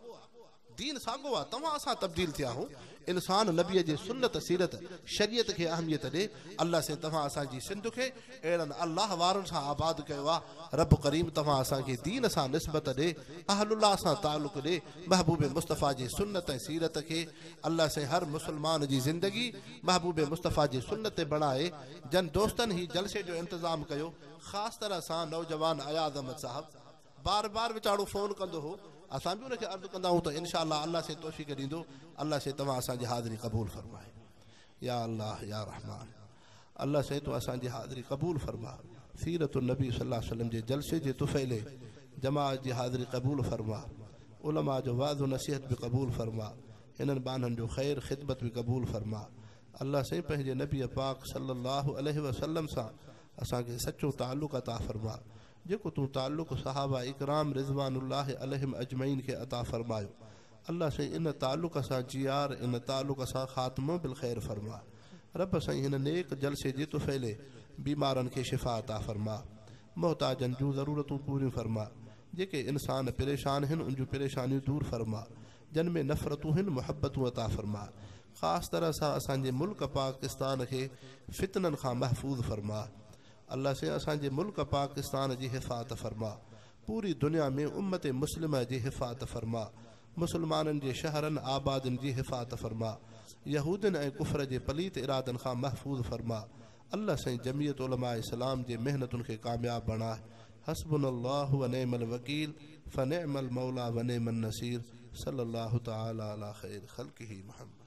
دين ساڳو آ، توهان اسان تبديل ٿيا آهيون. انسان نبيء جي سنت، سيرت، شريعت کي اهميت ڏي. الله سائين توهان اسان جي سنڌ کي اهڙن الله وارن سان آباد ڪيو آ. رب ڪريم توهان اسان کي دين سان نسبت ڏي، اهل الله سان تعلق ڏي، محبوب مصطفيٰ جي سنت ۽ سيرت کي الله سائين هر مسلمان جي زندگي محبوب مصطفيٰ جي سنت تي بڻائي. جن دوستن هي جلسي جو انتظام ڪيو خاص طرح سان نوجوان اياز احمد صاحب بار بار ويچارو فون ڪندو هو اسان به ان کي عرض ڪندا آهيون ته انشاء الله الله سائين توفيق ڏيندو الله سائين توهان اسان جي حاضري قبول فرمائي يا الله يا رحمان الله سائين تون اسان جي حاضري قبول فرما سيرت النبي صلي الله عليه وسلم جي جلسي جي طفيلي جماعت جي حاضري قبول فرما. علماء جو وعظ و نصيحت به قبول فرما. هنن ٻانهن جو خير خدمت به قبول فرما. الله سائين پنهنجي نبي پاڪ صلي الله عليه وسلم سان اسان کي سچو تعلق عطا فرما. جيڪو تون تعلق صحابه اڪرام رضوان الله عليهم اجمعين کي عطا فرمايو. الله سائين ان تعلق سان جيار ان تعلق سان خاتمو بالخير فرما. رب سائين هن نيڪ جلسي جي طفيلي بيمارن کي شفا عطا فرما. محتاجن جون ضرورتون پوريون فرما. جيڪي انسان پريشان هن ان جون پريشانيون دور فرما. جن ۾ نفرتون هن محبتون عطا فرما. خاص طرح سان اسان جي ملڪ پاڪستان کي فتنن کان محفوظ فرما. الله سائين اسان جي ملڪ پاڪستان جي حفاظت فرما. پوري دنيا ۾ امت مسلمه جي حفاظت فرما. مسلمانن جي شهرن آبادين جي حفاظت فرما. يهودين ۽ ڪفر جي پليت ارادن کان محفوظ فرما. الله سائين جمعيت علماء اسلام جي محنتن کي ڪامياب بڻاء. حسبنا الله ونعم الوڪيل فنعم الموليٰ ونعم النصير صلي الله تعالٰي علي خير خلقه محمد.